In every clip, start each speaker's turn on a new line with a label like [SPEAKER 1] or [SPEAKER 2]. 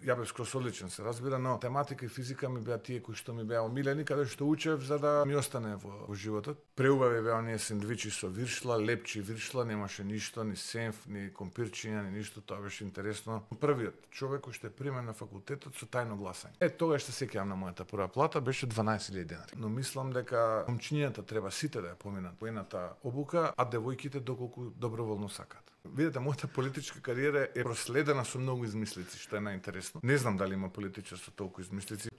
[SPEAKER 1] ја бев скроз одличен, се разбира, но тематика и физика ми беа тие кои што ми беа омилени, каде што учев за да ми остане во животот. Преубави беа оние сендвичи со виршла, лепчи виршла, немаше ништо, ни сенф, ни компирчиња, ни ништо, тоа беше интересно. Првиот човек кој што е примен на факултетот со тајно гласање. Тогаш се сеќавам на мојата прва плата, беше 12.000 денари. Но мислам дека момчињата треба сите да ја поминат по едната обука, а девојките доколку доброволно сакаат. Видете, мојата политичка кариера е проследена со многу измислици, што е најинтересно. Не знам дали има политичар со толку измислици.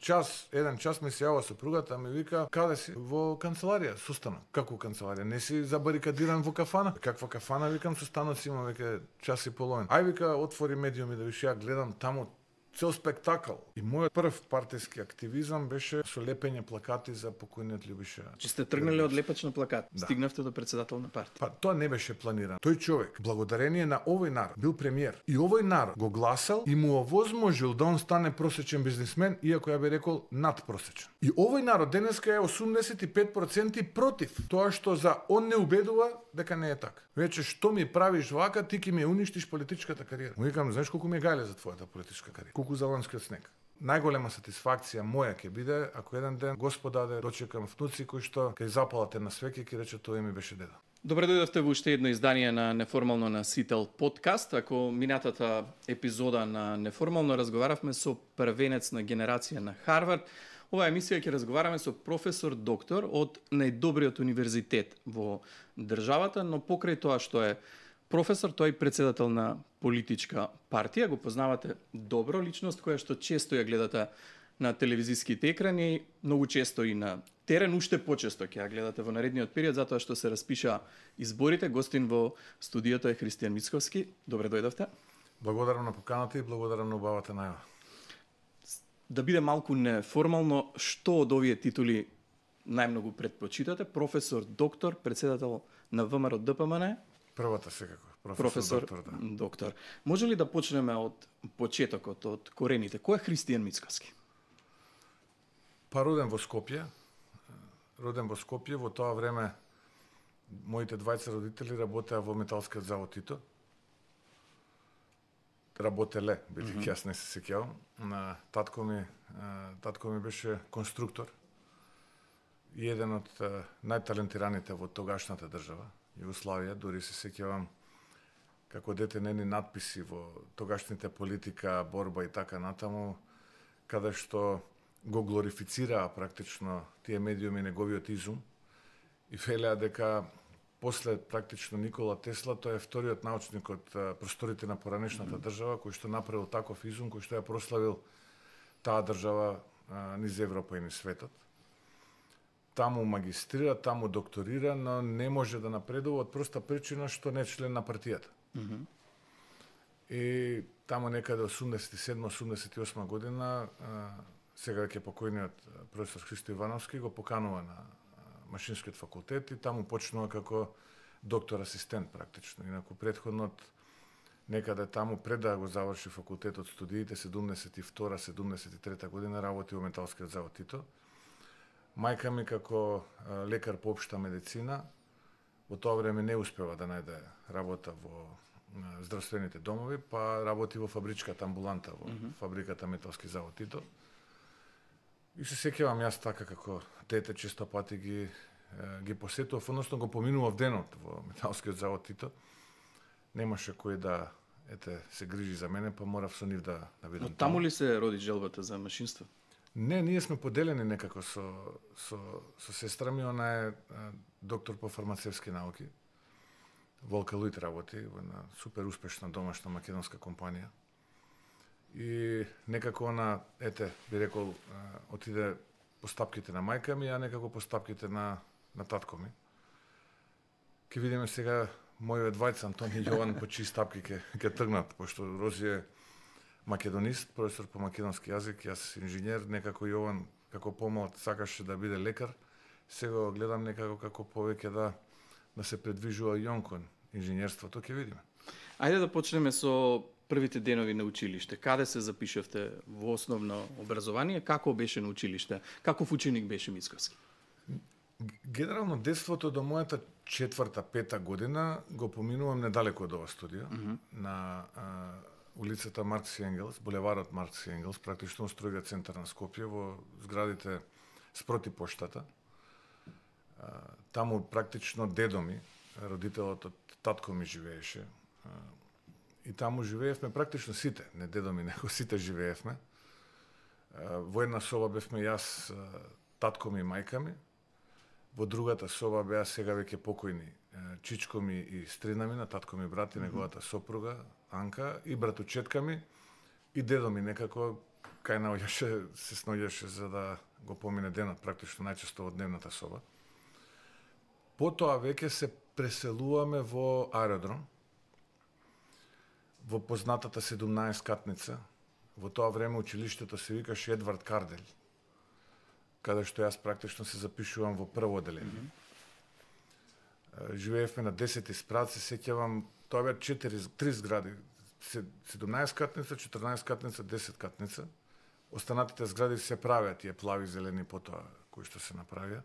[SPEAKER 1] Еден час ми се јава сопругата, ми вика: "Каде си?" "Во канцеларија, состанок." "Како канцеларија? Не си забарикадиран во кафана?" "Каква кафана?" Викам, "Со станоци има веќе час и половина." "Ај," вика, "отвори медиуми да виш, ја гледам таму цел спектакл." И мојот прв партиски активизам беше со лепење плакати за покојниот Љубиша.
[SPEAKER 2] Че сте тргнали од лепач на плакат,
[SPEAKER 1] Да.
[SPEAKER 2] стигнавте до председател на партија.
[SPEAKER 1] Па тоа не беше планирано. Тој човек, благодарение на овој народ, бил премиер. И овој народ го гласал и му овозможил да он стане просечен бизнисмен, иако ја би рекол надпросечен. И овој народ денеска е 85% против тоа што за он не убедува дека не е така. Веќе што ми правиш вака, ти ќе ми уништиш политичката кариера. Му викам, знаеш колку ми е гајле за твојата политичка кариера? Колку за ланскиот снег. Најголема сатисфакција моја ќе биде ако еден ден Господ даде дочекам внуци кои што ќе запалат една свеќа и ќе рече тоа ми беше дедо.
[SPEAKER 2] Добре дојдовте во уште едно издание на Неформално на Сител подкаст. Ако минатата епизода на Неформално разговаравме со првенец на генерација на Харвард, оваа емисија ќе разговараме со професор доктор од најдобриот универзитет во државата, но покрај тоа што е професор, тој е председател на политичка партија, го познавате добро, личност која што често ја гледате на телевизиските екрани, многу често и на терен, уште почесто ќе ја гледате во наредниот период, затоа што се распиша изборите. Гостин во студиото е Христијан Мицковски. Добре дојдовте.
[SPEAKER 1] Благодарам на поканата и благодарам на убавата најава.
[SPEAKER 2] Да биде малку неформално, што од овие титули најмногу предпочитате? Професор, доктор, председател на ВМРО ДПМН?
[SPEAKER 1] Првата секако,
[SPEAKER 2] Професор
[SPEAKER 1] доктор, да.
[SPEAKER 2] Доктор. Може ли да почнеме од почетокот, од корените? Кој е Христијан Мицковски?
[SPEAKER 1] Па роден во Скопје. Во тоа време моите двајца родители работеа во металскиот завод Тито. Работеле, бидејќи јас не се сеќавам. Татко ми беше конструктор и еден од најталентираните во тогашната држава, Југославија. Дури се сеќавам како дете нени надписи во тогашните политика, борба и така натаму, каде што го глорифицираа практично тие медиуми неговиот изум и велеа дека после практично Никола Тесла тој е вториот научник од просторите на поранешната држава кој што направил таков изум, кој што ја прославил таа држава низ Европа и низ светот. Таму магистрира, таму докторира, но не може да напредува од проста причина што не е член на партијата. И таму некаде 87-88 година сега ќе покојниот професор Христо Ивановски го поканува на Машинскиот факултет и таму почнува како доктор асистент практично. Инаку претходнот некаде таму пред да го заврши факултетот студиите 72-73 година работи во металскиот завод Тито. Мајка ми како лекар по општа медицина во тоа време не успева да најде работа во здравствените домови, па работи во фабричката амбуланта во фабриката Металски завод Тито. И се сеќавам јас така како дете често пати ги посетував, односно го поминував денот во Металскиот завод Тито. Немаше кој да се грижи за мене, па морав со нив да бидам.
[SPEAKER 2] Но таму ли се роди желбата за машинство?
[SPEAKER 1] Не, ние сме поделени некако со сестра ми, она е доктор по фармацевски науки. Волка Луит работи во една супер успешна домашна македонска компанија. И некако она, би рекол, отиде по стапките на мајка ми, а некако по стапките на татко ми. Ке видиме сега мојот двајца Антони и Јован по чии стапки ќе тргнат, пошто Рози е македонист, професор по македонски јазик, јас инженер, некако Јован како помлад сакаше да биде лекар. Сега го гледам некако како повеќе да се предвижува и он кон инженерството, ќе видиме.
[SPEAKER 2] Ајде да почнеме со првите денови на училиште. Каде се запишавте во основно образование? Како беше на училиште? Каков ученик беше Мицковски?
[SPEAKER 1] Генерално детството до мојата 4-5 година го поминувам недалеко од ова студио, на улицата Маркс и Енгелс, булеварот Маркс и Енгелс, практично струга центар на Скопје, во зградите спроти поштата. Таму практично дедо ми, родителот од татко ми живееше. И таму живеевме практично сите, не дедо ми, него сите живеевме. Во една соба бевме јас, татко ми и мајка ми. Во другата соба беа сега веќе покојни чичко ми и стрина ми, на татко ми брат и неговата сопруга, Анка, и братучетка ми, и дедо ми некако кај наоѓаше, се сноѓаше за да го помине денот, практично најчесто во дневната соба. Потоа веќе се преселуваме во аеродром, во познатата 17-катница. Во тоа време училиштето се викаше Едвард Кардель, каде што јас практично се запишувам во прво одделение. Живеевме на 10 спрат, се сеќавам, тоа беа 3 згради, 17-катница, 14-катница, 10-катница. Останатите згради се правеа тие плави зелени потоа кои што се направија.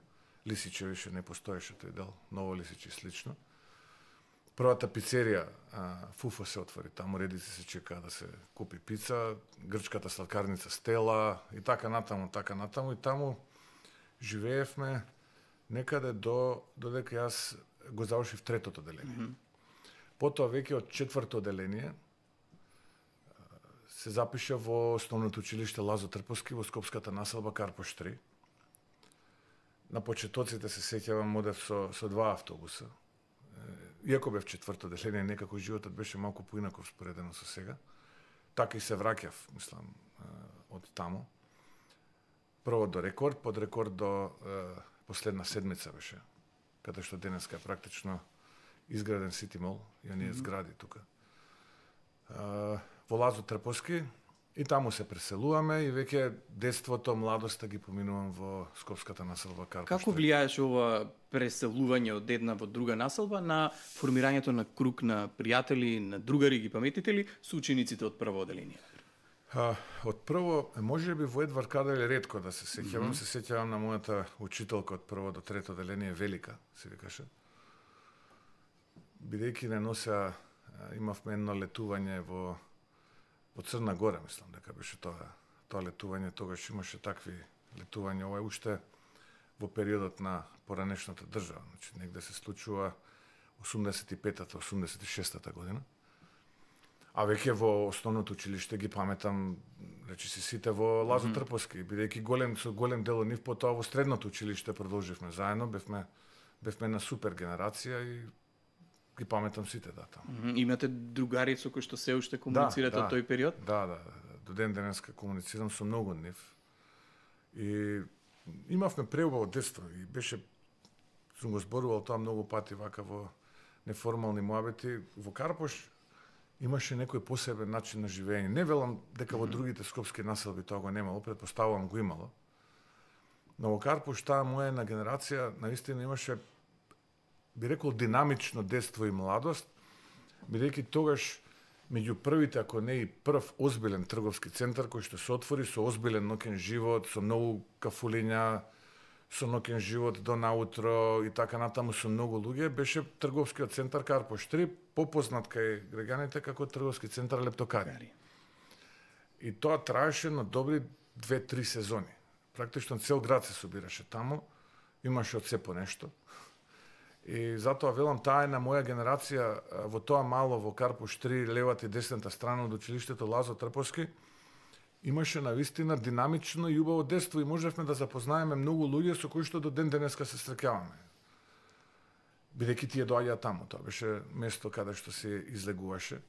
[SPEAKER 1] Лисиче више не постоеше тој дел, ново Лисиче слично. Првата пицерија Фуфо се отвори, таму редици се чекаа да се купи пица, грчката сладкарница Стела и така натаму и таму живеевме некаде додека јас го завршив третото одделение. Потоа веќе од четврто одделение се запиша во основното училиште Лазо Трповски во Скопската населба Карпош 3. На почетоците се сеќавам, одев со 2 автобуса. Иако бев четврто одделение, некако животот беше малку поинаков споредено со сега. Така и се враќав, мислам, од таму. Прво до Рекорд, под Рекорд до последна седмица беше, каде што денеска е практично изграден Сити Мол и оние згради тука. Во Лазо Трповски и таму се преселуваме и веќе детството, младоста ги поминувам во Скопската населба Карпош.
[SPEAKER 2] Како влијаеше ова преселување од една во друга населба на формирањето на круг на пријатели, на другари, ги паметите ли, со учениците од прво одделение?
[SPEAKER 1] Од прво, може би во Едвард Кардель ретко да се сеќавам, се сеќавам на мојата учителка од прво до трето одделение, Велика, се викаше. Бидејќи не нося, имавме едно летување во Црна Гора, мислам дека беше тоа летување, тогаш имаше такви летувања, ова е уште во периодот на поранешната држава, значи негде се случува 85-та, 86-та година. А веќе во основното училиште ги паметам, речиси сите во Лазо Трповски, бидејќи голем дел од нив потоа во средното училиште продолживме заедно, бевме една супер генерација и ги паметам сите таму.
[SPEAKER 2] Имате другари со кои што се уште комуницирате од тој период?
[SPEAKER 1] Да, до ден денеска комуницирам со многу од нив. И имавме преубаво детство и сум го зборувал тоа многу пати вака во неформални муабети. Во Карпош имаше некој посебен начин на живење. Не велам дека во другите скопски населби тоа го немало, претпоставувам го имало. Но во Карпош таа моја една генерација наистина имаше, би рекол, динамично детство и младост, бидејќи тогаш меѓу првите, ако не и прв озбилен трговски центар кој што се отвори со озбилен ноќен живот, со многу кафулиња, со ноќен живот до наутро и така натаму со многу луѓе, беше трговскиот центар Карпош 3, попознат кај граѓаните како трговски центар Лептокари. И тоа траеше на добри 2-3 сезони. Практично цел град се собираше таму, имаше од се по нешто. И затоа велам, таа е на моја генерација во тоа мало во Карпош 3, левата и десната страна од училиштето Лазо Трповски, имаше навистина динамично и убаво детство и можевме да запознаеме многу луѓе со кои што до ден денеска се среќаваме. Бидејќи тие доаѓаа таму, тоа беше место каде што се излегуваше.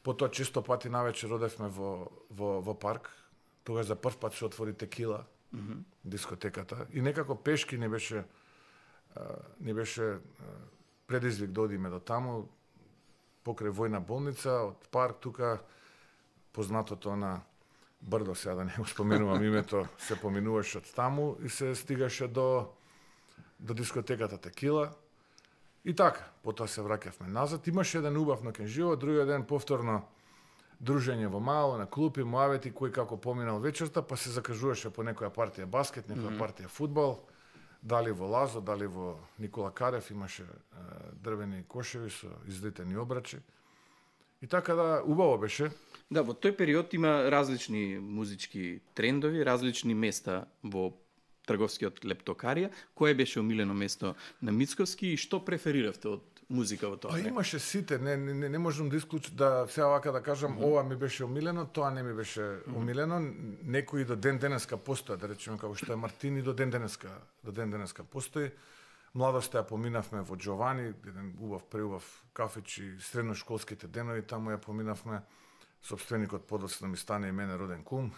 [SPEAKER 1] Потоа често пати навечер одевме во парк, тогаш за прв пат се отвори Текила, дискотеката, и некако пешки не беше предизвик да одиме до таму, покрај војна болница, од парк тука, познатото на Брдо, сега да не го споменувам името, се поминуваше од таму и се стигаше до дискотеката Текила. И така, потоа се враќавме назад. Имаше еден убав ноќен живот, другиот ден повторно дружење во мало, на клупи, муавети, кој како поминал вечерта, па се закажуваше по некоја партија баскет, некоја партија фудбал, дали во Лазо, дали во Никола Карев, имаше дрвени кошеви со излитени обрачи. И така да, убаво беше.
[SPEAKER 2] Да, во тој период има различни музички трендови, различни места во трговскиот лептокарија. Кое беше омилено место на Мицковски и што префериравте од музика во тоа
[SPEAKER 1] Па
[SPEAKER 2] време?
[SPEAKER 1] имаше сите, не можам да исклучам да сега вака да кажам ова ми беше омилено, тоа не ми беше омилено. Некои до ден денеска постојат, да речеме како што е Мартини, до ден денеска постои. Младоста ја поминавме во Джовани, еден убав преубав кафич и средношколските денови, таму ја поминавме. Сопственикот подоцна ми стане и мене роден кум.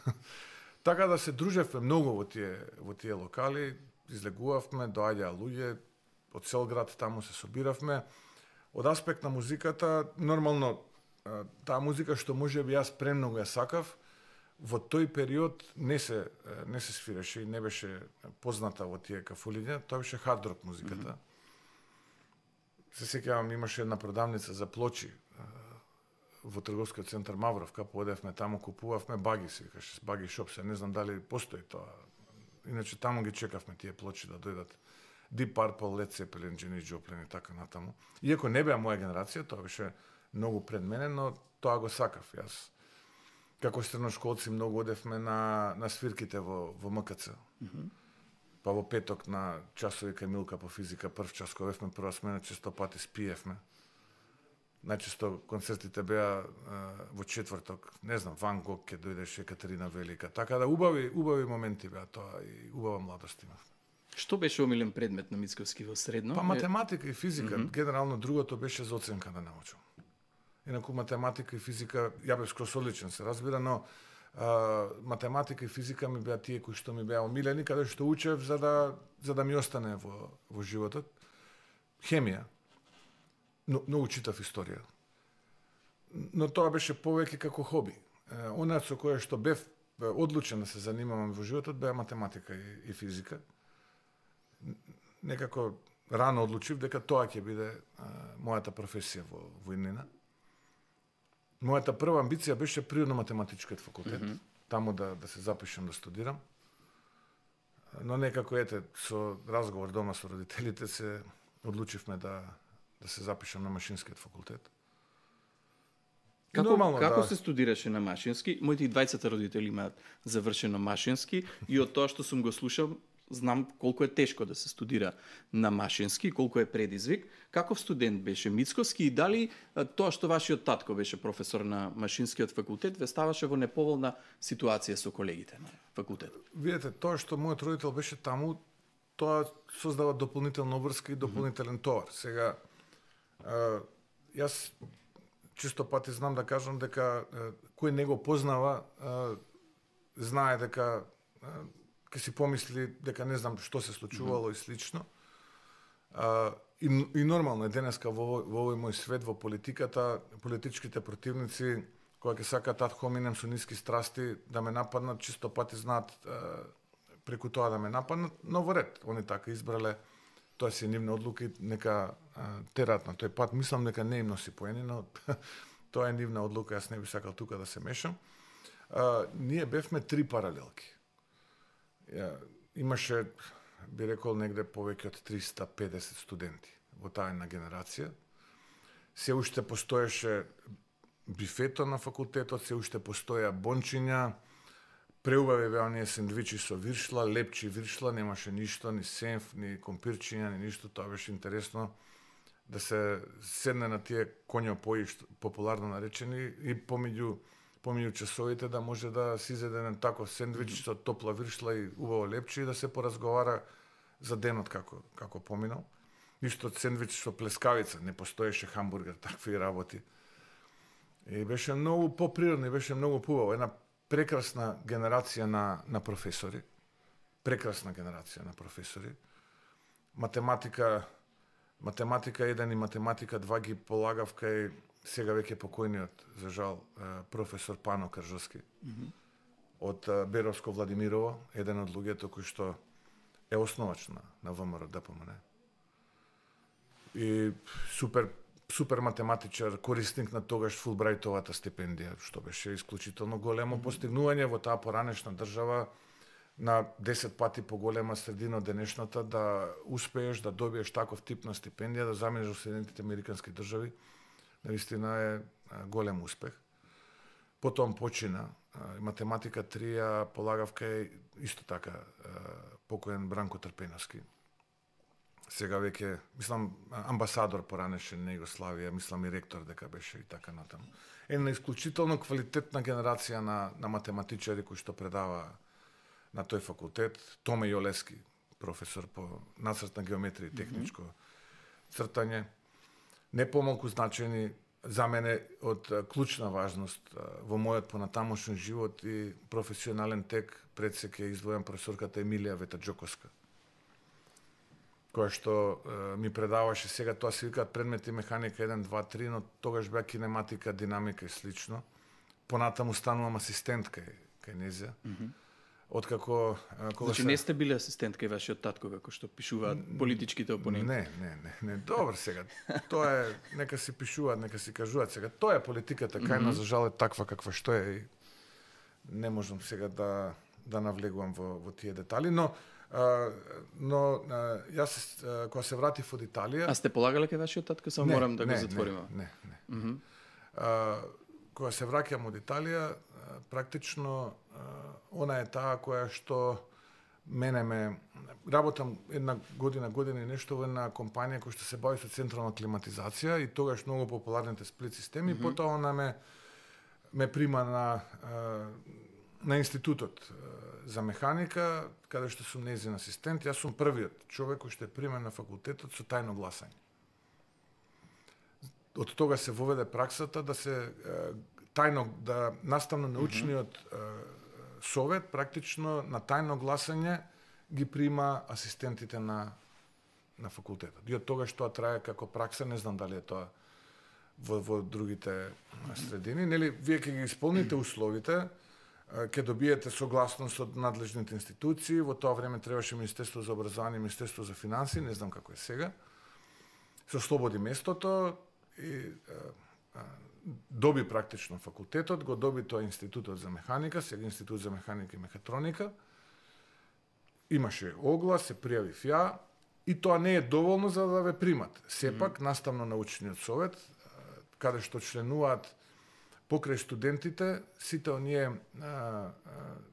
[SPEAKER 1] Така да се дружевме многу во тие локали, излегувавме, доаѓаа луѓе од цел град, таму се собиравме. Од аспект на музиката, нормално таа музика што можеби јас премногу ја сакав, во тој период не се свиреше и не беше позната во тие кафулиња, тоа беше хард рок музиката. Се сеќавам, имаше една продавница за плочи во трговскиот центар Мавровка, поодевме таму, купувавме баги, се викаше, баги шоп, се не знам дали постои тоа. Иначе таму ги чекавме тие плочи да дојдат. Deep Purple, Led Zeppelin, Janis Joplin и така натаму. Иако не беа моја генерација, тоа беше многу пред мене, но тоа го сакав. Јас како средношколци многу одевме на свирките во МКЦ. Па во петок на часови кај Милка по физика, прв час кога бевме прва смена, често пати спиевме. Најчесто концертите беа во четврток, не знам, Ван Гог ќе дојдеше, Екатерина Велика. Така да убави моменти беа тоа и убава младост имав.
[SPEAKER 2] Што беше омилен предмет на Мицковски во средно?
[SPEAKER 1] Па математика и физика. Генерално другото беше за оценка да научам. Инаку математика и физика, ја бев скроз одличен, се разбира, но математика и физика ми беа тие кои што ми беа омилени, каде што учев за да ми остане во животот. Хемија. Но читав историја. Но тоа беше повеќе како хоби. Она со кое што бев одлучен да се занимавам во животот беа математика и физика. Некако рано одлучив дека тоа ќе биде мојата професија во иднина. Мојата прва амбиција беше природно-математичкиот факултет, таму да се запишам да студирам. Но некако со разговор дома со родителите се одлучивме да се запишам на машинскиот факултет.
[SPEAKER 2] Како се студираше на машински? Моите и двајцата родители имаат завршено машински и од тоа што сум го слушал, знам колку е тешко да се студира на машински, колку е предизвик. Каков студент беше Мицковски и дали тоа што вашиот татко беше професор на машинскиот факултет ве ставаше во неповолна ситуација со колегите на факултет?
[SPEAKER 1] Видете, тоа што мојот родител беше таму, тоа создава дополнителна врска и дополнителен товар. Сега, јас чисто пати знам да кажам дека кој не го познава, знае дека ќе си помисли дека не знам што се случувало и слично. И нормално е денеска во овој мој свет, во политиката, политичките противници, кога ќе сакаат ад хоминем со ниски страсти да ме нападнат, чисто пати знаат преку тоа да ме нападнат, но во ред, они така избрале, тоа си нивна одлука и нека терат на тој пат. Мислам дека не им носи поени, но тоа е нивна одлука, јас не би сакал тука да се мешам. Ние бевме 3 паралелки. Имаше, би рекол, негде повеќе од 350 студенти во таа една генерација. Се уште постоеше бифето на факултетот, се уште постоја бончиња, преубави беа оние сендвичи со виршла, лепчи виршла, немаше ништо, ни сенф, ни компирчиња, ни ништо, тоа беше интересно да се седне на тие коњопои, популарно наречени, и помеѓу часовите да може да си изеде еден таков сендвич со топла виршла и убаво лепче и да се поразговара за денот како поминал. Исто сендвич со плескавица, не постоеше хамбургер, такви работи. И беше многу поприродно, беше многу пубаво. Една прекрасна генерација на професори. Прекрасна генерација на професори. Математика 1 и математика 2 ги полагав кај сега веќе покојниот, за жал, професор Пано Кржовски. Од Беровско Владимирово, еден од луѓето кој што е основач на ВМРО ДПМН. И супер математичар, корисник на тогаш Фулбрајтовата стипендија, што беше исклучително големо постигнување во таа поранешна држава, на 10 пати поголема средина од денешната, да успееш да добиеш таков тип на стипендија, да замениш во Соединетите Американски држави, наистина е голем успех. Потом почина математика 3 ја полагав кај исто така покоен Бранко Трпеновски. Сега веќе, мислам, амбасадор поранешен на Југославија, мислам и ректор дека беше и така натаму. Една исклучително квалитетна генерација на математичари кои што предава на тој факултет. Томе Јолески, професор по нацртна геометрија и техничко цртање. Не помалку значени за мене од клучна важност во мојот понатамошен живот и професионален тек пред се ќе издвојам професорката Емилија Ветаџоковска, која што ми предаваше, сега тоа се викаат предмети механика 1, 2, 3, но тогаш беа кинематика, динамика и слично. Понатаму станувам асистент кај незија. Откако
[SPEAKER 2] значи не сте били асистент кај вашиот татко како што пишуваат политичките опоненти?
[SPEAKER 1] Не, добро сега. Тоа е, нека си пишуваат, нека си кажуваат сега. Тоа е политиката кај нас, за жал е таква каква што е и не можам сега да навлегувам во тие детали, но јас кога се вратив од Италија...
[SPEAKER 2] А сте полагале кај вашиот татко, само морам да го затвориме?
[SPEAKER 1] Не. Кога се враќам од Италија, практично она е таа која што мене ме... Работам една година и нешто во една компанија која што се бави со централна климатизација и тогаш многу популарните сплит системи, потоа она ме прима на институтот за механика, каде што сум нејзин асистент. Јас сум првиот човек кој што е примен на факултетот со тајно гласање. Од тога се воведе праксата да се тајно, да наставно-научниот совет практично на тајно гласање ги прима асистентите на факултетот. И од тогаш тоа трае како пракса, не знам дали е тоа во другите средини. Нели, вие ќе ги исполните условите, ќе добиете согласност од надлежните институции. Во тоа време требаше Министерство за образование, Министерство за финанси, не знам како е сега. Се ослободи местото и доби практично факултетот, го доби тоа Институтот за механика, сега Институт за механика и мехатроника. Имаше оглас, се пријавив ја и тоа не е доволно за да ве примат. Сепак, наставно-научниот совет, каде што членуваат покрај студентите, сите оние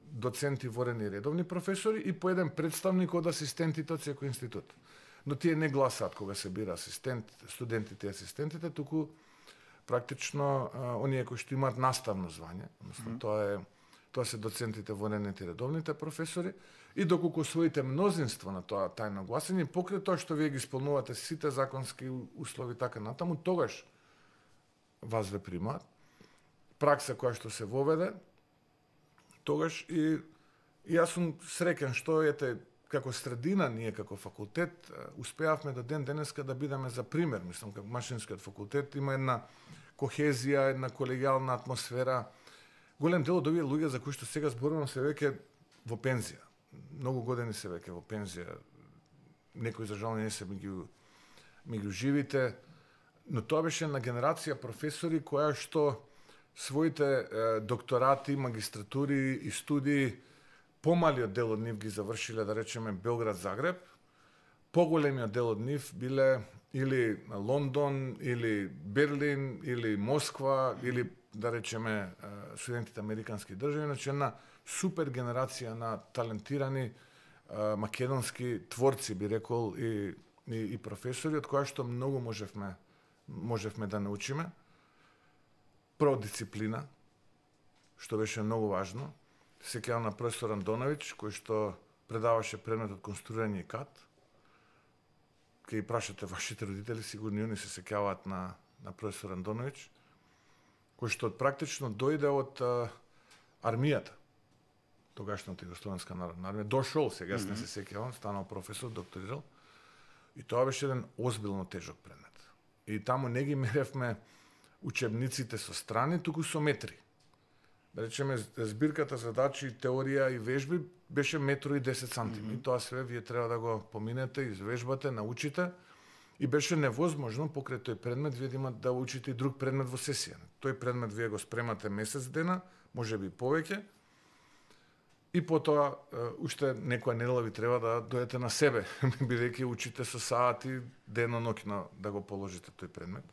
[SPEAKER 1] доценти, ворени редовни професори и по еден представник од асистентите од секој институт. Но тие не гласаат кога се бира асистент, студентите и асистентите, туку практично оние кои што имаат наставно звање, односно тоа се доцентите, воените и редовните професори, и доколку освоите мнозинство на тоа тајно гласање, покрај тоа што вие ги исполнувате сите законски услови така натаму, тогаш вас ве примаат. Пракса која што се воведе, тогаш и јас сум среќен што како средина, ние како факултет, успеавме до ден денеска да бидеме за пример. Мислам, како Машинскиот факултет има една кохезија, една колегијална атмосфера. Голем дел од овие луѓе за кои што сега зборувам се веќе во пензија. Многу години се веќе во пензија. Некои за жал не се ми ги живите, но тоа беше една генерација професори која што своите докторати, магистратури и студии, помалиот дел од нив ги завршиле, да речеме, Белград-Загреб, поголемиот дел од нив биле или Лондон, или Берлин, или Москва, или, да речеме, Соединетите американски држави, значи една супер генерација на талентирани македонски творци, би рекол, и професори, од која што многу можевме да научиме. Прво дисциплина, што беше многу важно. Се сеќавам на професор Андоновиќ, кој што предаваше предметот конструирање и КАД. Ке ги прашате вашите родители, сигурно они се сеќаваат на професор Андоновиќ, кој што практично дојде од армијата, тогашната Југословенска народна армија, дошол, сега не се сеќавам, станал професор, докторирал, и тоа беше еден озбилно тежок предмет. И таму не ги меревме учебниците со страни, туку со метри. Да речеме, збирката задачи, теорија и вежби беше 1,10 сантими. И тоа све вие треба да го поминете, извежбате, научите. И беше невозможно покрај тој предмет вие да учите и друг предмет во сесија. Тој предмет вие го спремате месец дена, можеби повеќе. И потоа уште некоја недела ви треба да дојдете на себе, бидејќи учите со сати дено-ноќно да го положите тој предмет.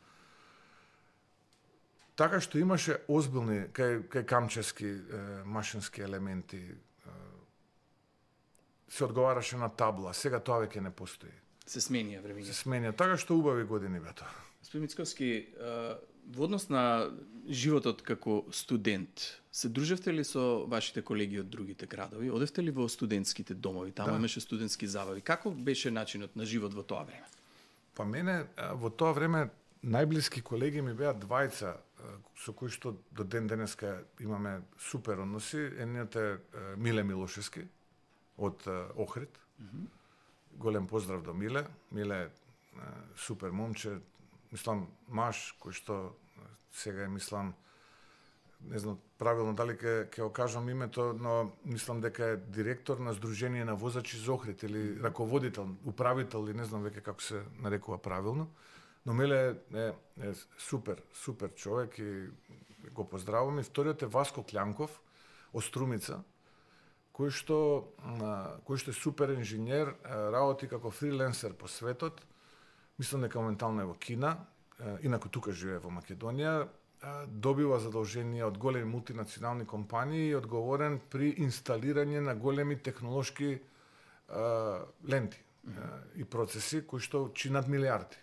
[SPEAKER 1] Така што имаше озбилни кај камчески машински елементи. Се одговараше на табла. Сега тоа веќе не постои.
[SPEAKER 2] Се сменија времењето.
[SPEAKER 1] Се сменија. Така што убави години бе тоа.
[SPEAKER 2] Господин Мицковски, во однос на животот како студент, се дружевте ли со вашите колеги од другите градови? Одевте ли во студентските домови? Таму имаше студентски забави. Како беше начинот на живот во тоа време?
[SPEAKER 1] Па мене во тоа време најблиски колеги ми беа двајца со кои што до ден денеска имаме супер односи. Едниот е Миле Милошевски од Охрид. Голем поздрав до Миле. Миле супер момче, мислам маж кој што сега мислам, не знам правилно дали ќе го кажам името, но мислам дека е директор на Сдружение на возачи за Охрид или раководител, управител или не знам веќе како се нарекува правилно. Но Миле е супер човек и го поздравувам. И вториот е Васко Клјанков од Струмица, кој што е супер инженер, работи како фриленсер по светот. Мислам дека моментално е во Кина, инаку тука живее во Македонија, добива задолженија од големи мултинационални компании и одговорен при инсталирање на големи технолошки ленти и процеси кои што чинат милиарди.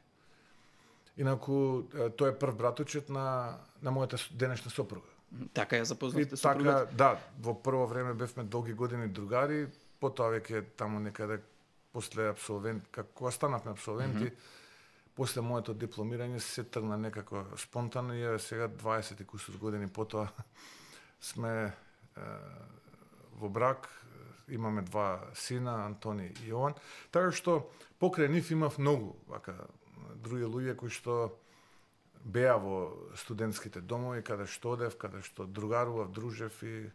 [SPEAKER 1] Инаку тој е прв браточет на мојата денешна сопруга.
[SPEAKER 2] Така ја запознавте
[SPEAKER 1] Така,
[SPEAKER 2] сопругата?
[SPEAKER 1] да, во прво време бевме долги години другари, потоа веќе таму некаде после абсолвент, кога станавме абсолвенти, после моето дипломирање се тргна некако спонтано и сега 20 и кусур години потоа сме во брак, имаме два сина, Антони и Јован, така што покрај нив имав многу други луѓе кои што беа во студентските домови, каде што одев, каде што другарував, дружев и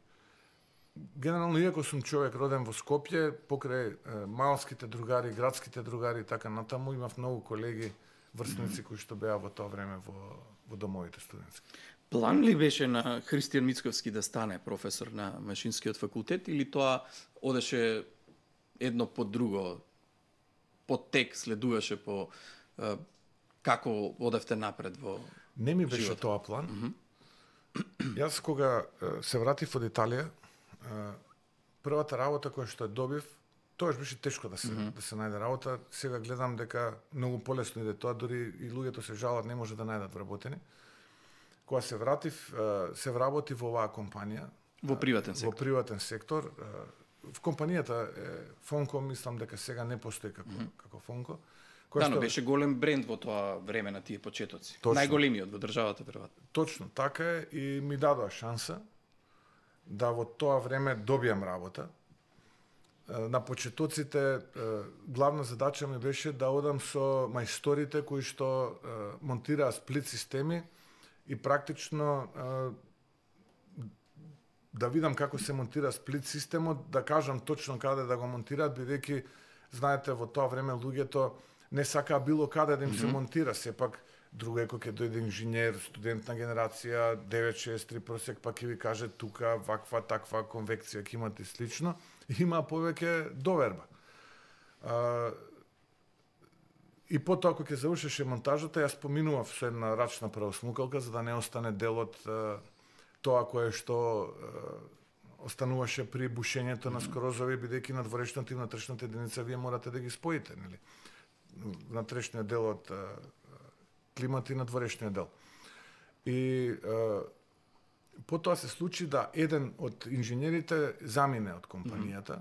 [SPEAKER 1] генерално, иако сум човек роден во Скопје, покрај малските другари, градските другари, така натаму, имав многу колеги, врсници кои што беа во тоа време во домовите студентски.
[SPEAKER 2] План ли беше на Христијан Мицковски да стане професор на Машинскиот факултет или тоа одеше едно по друго, по тек следуваше по како одевте напред во
[SPEAKER 1] Не ми беше
[SPEAKER 2] животот?
[SPEAKER 1] тоа план. Јас кога се вратив од Италија, првата работа која што ја добив, тоаш беше тешко да се најде работа. Сега гледам дека многу полесно иде тоа, дури и луѓето се жалат, не може да најдат вработени. Кога се вратив, се вработи во оваа компанија.
[SPEAKER 2] Во приватен сектор.
[SPEAKER 1] Во приватен сектор. В компанијата Фонко, мислам дека сега не постои како Фонко.
[SPEAKER 2] Да, но беше голем бренд во тоа време на тие почетоци.
[SPEAKER 1] Точно.
[SPEAKER 2] Најголемиот во државата, веројатно.
[SPEAKER 1] Точно, така е и ми дадоа шанса да во тоа време добијам работа. На почетоците главна задача ми беше да одам со мајсторите кои што монтираа сплит системи и практично да видам како се монтира сплит системот, да кажам точно каде да го монтираат, бидејќи знаете во тоа време луѓето не сакаа било каде да им се монтира, сепак друго е кој ќе дојде инженер, студент на генерација 963 просек, па ќе ви каже тука ваква таква конвекција ќе имате и слично, има повеќе доверба. И потоа кога ќе завршеше монтажата, јас поминував со една рачна правосмукалка за да не остане дел од тоа кое што остануваше при бушењето на скрозови, бидејќи надворешната и внатрешната единица вие морате да ги споите, нели? Внатрешниот дел од климата и надворешниот дел. И потоа се случи да еден од инженерите замине од компанијата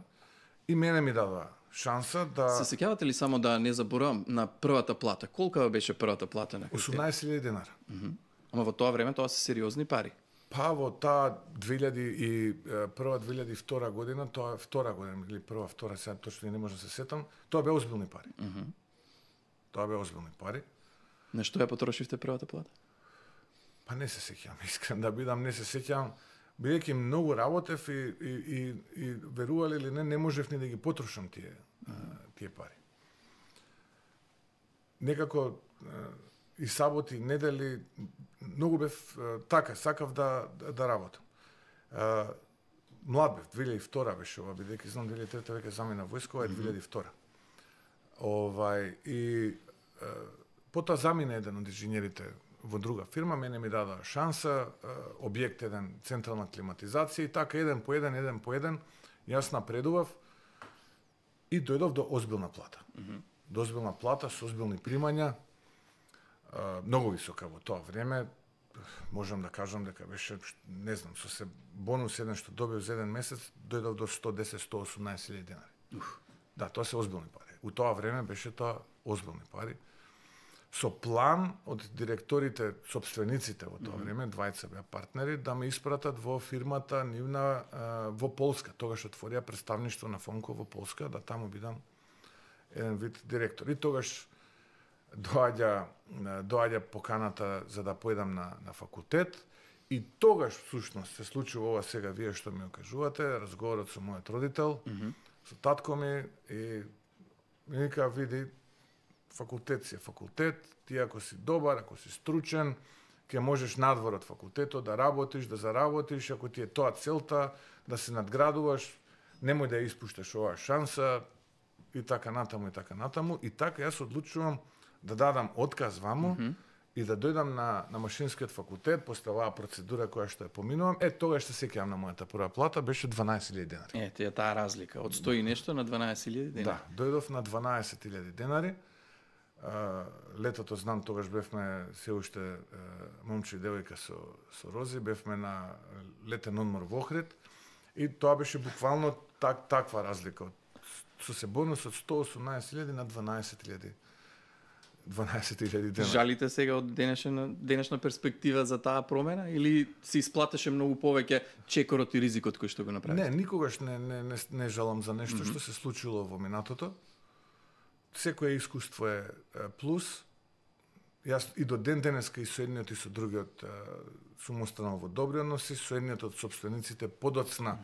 [SPEAKER 1] и мене ми дадоа шанса да...
[SPEAKER 2] Се сеќавате ли, само да не заборавам, на првата плата? Колка беше првата плата на Христијан?
[SPEAKER 1] 18.000 денара.
[SPEAKER 2] Ама во тоа време тоа се сериозни пари.
[SPEAKER 1] Па во таа 2001-2002 година, тоа е втора година, или прва, втора, сега точно не можам да се сетам, тоа беа озбилни пари. Тоа беа озбилни пари.
[SPEAKER 2] На што ја потрошивте првата плата?
[SPEAKER 1] Па не се сеќавам, искрен да бидам, не се сеќавам, бидејќи многу работев и верували или не можев ни да ги потрошам тие пари. Некако и саботи, недели, многу бев така, сакав да работам. Млад бев, 2002 беше ова, бидејќи знам 2003 веќе замина војска, е 2002. И потоа замина еден од инженерите во друга фирма, мене ми дадоа шанса, објект еден, централна климатизација и така еден по еден, јас напредував и дојдов до озбилна плата. До озбилна плата со озбилни примања, многу висока во тоа време, можам да кажам дека беше, не знам, со се бонус еден што добив за еден месец, дојдов до 110-118 денари. Да, тоа се озбилни пари. У тоа време беше тоа озбилни пари. Со план од директорите, сопствениците во тоа време, двајца беа партнери, да ме испратат во фирмата нивна во Полска. Тогаш отворија представништво на Фонко во Полска, да таму бидам еден вид директор. И тогаш доаѓа поканата за да појдам на факултет и тогаш всушност се случува ова сега вие што ми окажувате, разговорот со мојот родител, со татко ми и ми вика, види, факултет си е факултет, ти ако си добар, ако си стручен, ќе можеш надвор од факултетот да работиш, да заработиш, ако ти е тоа целта, да се надградуваш, немој да ја испушташ оваа шанса и така натаму. И така јас одлучувам да дадам отказ ваму и да дојдам на машинскиот факултет после оваа процедура која што ја поминувам. Тогаш се сеќавам на мојата прва плата, беше 12.000 денари.
[SPEAKER 2] Тие таа разлика од 100 и нешто на 12.000 денари.
[SPEAKER 1] Да, дојдов на 12.000 денари. Летото, знам, тогаш бевме се уште момче и девојка со Рози, бевме на летен одмор во Охрид и тоа беше буквално таква разлика. Со се бонус од 118.000 на 12.000 денари.
[SPEAKER 2] Жалите сега од денешна перспектива за таа промена или се исплатеше многу повеќе чекорот и ризикот кој што го направите?
[SPEAKER 1] Не, никогаш не жалам за нешто што се случило во минатото. Секое искуство е плюс. Јас и до ден денеска и со едниот и со другиот сум останал во добри односи, со едниот од сопствениците подоцна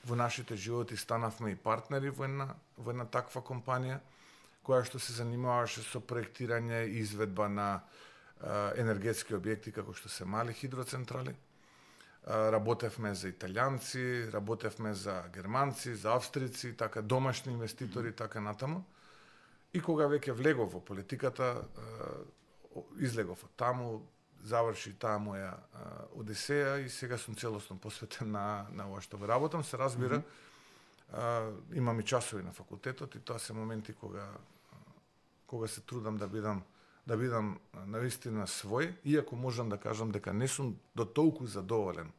[SPEAKER 1] во нашите животи станавме и партнери во една таква компанија која што се занимаваше со проектирање и изведба на енергетски објекти како што се мали хидроцентрали. Работевме за италијанци, работевме за германци, за австрици, така домашни инвеститори, така натаму. И кога веќе влегов во политиката, излегов од таму, заврши таа моја одисеја и сега сум целосно посветен на ова што го работам. Се разбира, имам и часови на факултетот и тоа се моменти кога се трудам да бидам навистина свој, иако можам да кажам дека не сум до толку задоволен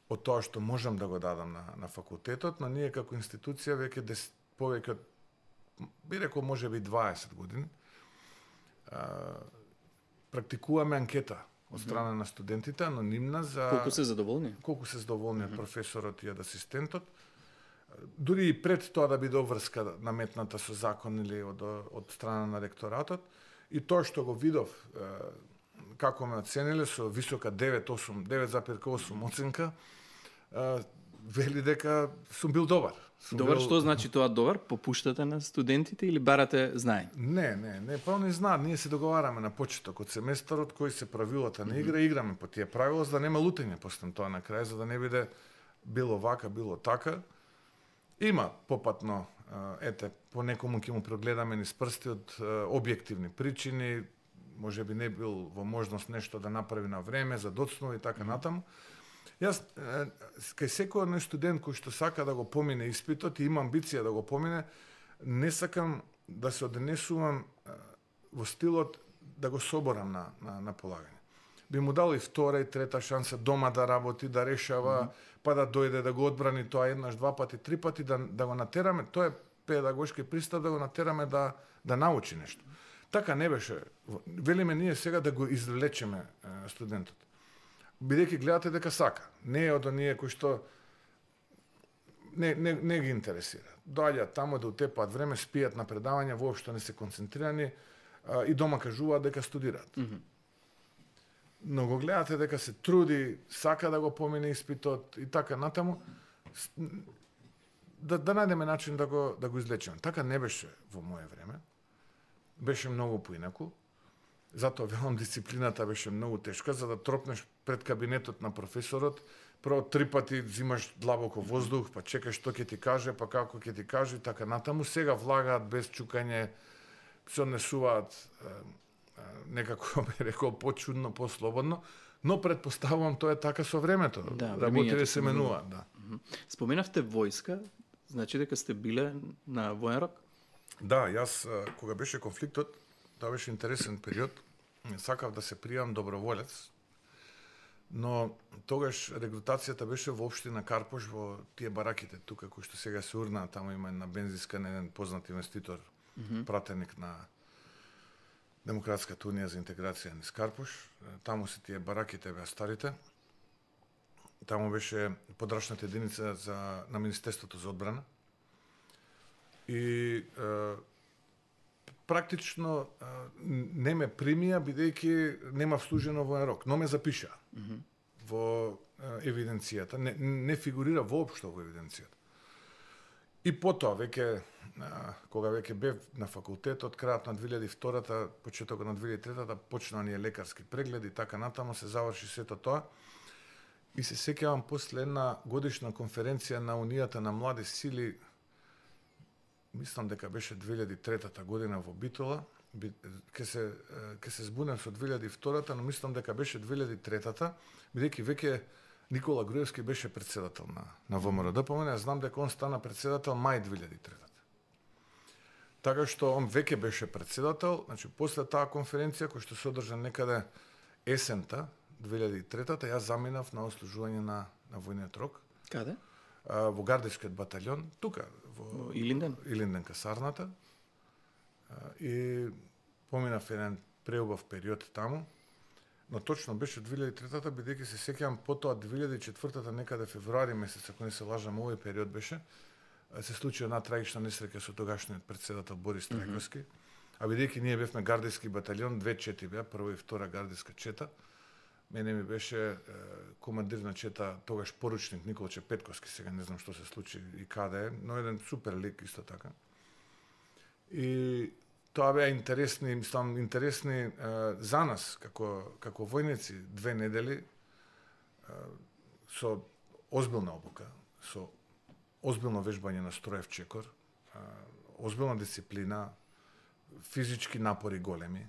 [SPEAKER 1] од тоа што можам да го дадам на факултетот, но ние како институција веќе повеќе од, би рекол, можеби 20 години, практикуваме анкета од страна на студентите, анонимна за
[SPEAKER 2] колку се задоволни?
[SPEAKER 1] Колку се задоволни од професорот и од асистентот. Дури и пред тоа да биде обврска наметната со закон или од страна на ректоратот. И тоа што го видов, како ме оцениле со висока 9,8 оценка, вели дека сум бил добар.
[SPEAKER 2] Добар, што значи тоа добар? Попуштате на студентите или барате знаење?
[SPEAKER 1] Не, па они знаат, ние се договараме на почеток од семестарот кои се правилата на игра, играме по тие правила за да нема лутење после тоа на крај, за да не биде било вака, било така. Има попатно, по некому ќе му прогледаме низ прсти од објективни причини, можеби не бил во можност нешто да направи на време, за доцнови и така натаму. Јас, кај секој студент кој што сака да го помине испитот и има амбиција да го помине, не сакам да се однесувам во стилот да го соборам на полагање. Би му дал и втора и трета шанса дома да работи, да решава, па да дојде да го одбрани тоа еднаш, два пати, три пати, да го натераме, тоа е педагошки пристап, да го натераме да научи нешто. Така не беше. Велиме ние сега да го извлечеме студентот. Бидејќи гледате дека сака. Не е од оние кои што не ги интересира. Доаѓаат таму да утепаат време, спијат на предавања, воопшто не се концентрирани и дома кажуваат дека студираат. Но го гледате дека се труди, сака да го помине испитот и така натаму, да најдеме начин да го излечеме. Така не беше во моје време. Беше многу поинаку. Затоа велам, дисциплината беше многу тешка, за да тропнеш пред кабинетот на професорот, прво 3 пати взимаш длабоко воздух, па чекаш што ќе ти каже, па како ќе ти каже и така натаму. Сега влагаат без чукање, се однесуваат некако би рекол почудно, послободно, но предпоставувам тоа е така со времето.
[SPEAKER 2] Да,
[SPEAKER 1] работите се менуваат, да.
[SPEAKER 2] Споменавте војска, значи дека сте биле на воен рок?
[SPEAKER 1] Да, јас кога беше конфликтот, тоа беше интересен период. Сакав да се пријавам доброволец, но тогаш регрутацијата беше во општина Карпош, во тие бараките тука кои што сега се урнаа, таму има една бензинска, еден познат инвеститор, пратеник на Демократската унија за интеграција низ Карпош. Таму се тие бараките беа старите. Таму беше подрачната единица на Министерството за одбрана. И практично не ме примија, бидејќи нема вслужено воен рок, но ме запиша во евиденцијата. Не фигурира воопшто во евиденцијата. И потоа, веќе, кога веќе бев на факултетот, крајот на 2002-та, почетокот на 2003-та, почнаа ние лекарски прегледи, така натаму се заврши сето тоа. И се сеќавам после една годишна конференција на Унијата на млади сили, мислам дека беше 2003 година во Битола, ке се збунем со 2002-та, но мислам дека беше 2003-та, бидејќи веќе Никола Груевски беше председател на ВМРО ДПМН, знам дека он стана председател мај 2003-та. Така што он веќе беше председател, значи после таа конференција која што се одржа некаде есента 2003-та, јас заминав на ослужување на војниот рок.
[SPEAKER 2] Каде?
[SPEAKER 1] Во гардискиот батальон, тука, во
[SPEAKER 2] Илинден?
[SPEAKER 1] Илинден касарната. И поминав еден преубав период таму, но точно беше 2003-та, бидејќи се сеќавам потоа 2004-та, некаде февруари месец, ако не се лажам, овој период беше, се случи една трагична несреќа со тогашниот председател Борис Трајковски. А бидејќи ние бевме гардиски батальон, 2 чети беа, прва и втора гардиска чета. Мене ми беше командир на чета, тогаш поручник Николче Петковски, сега не знам што се случи и каде е, но еден супер лик исто така. И тоа беа интересни за нас, како војници, 2 недели со озбилна обука, со озбилно вежбање на строев чекор, озбилна дисциплина, физички напори големи,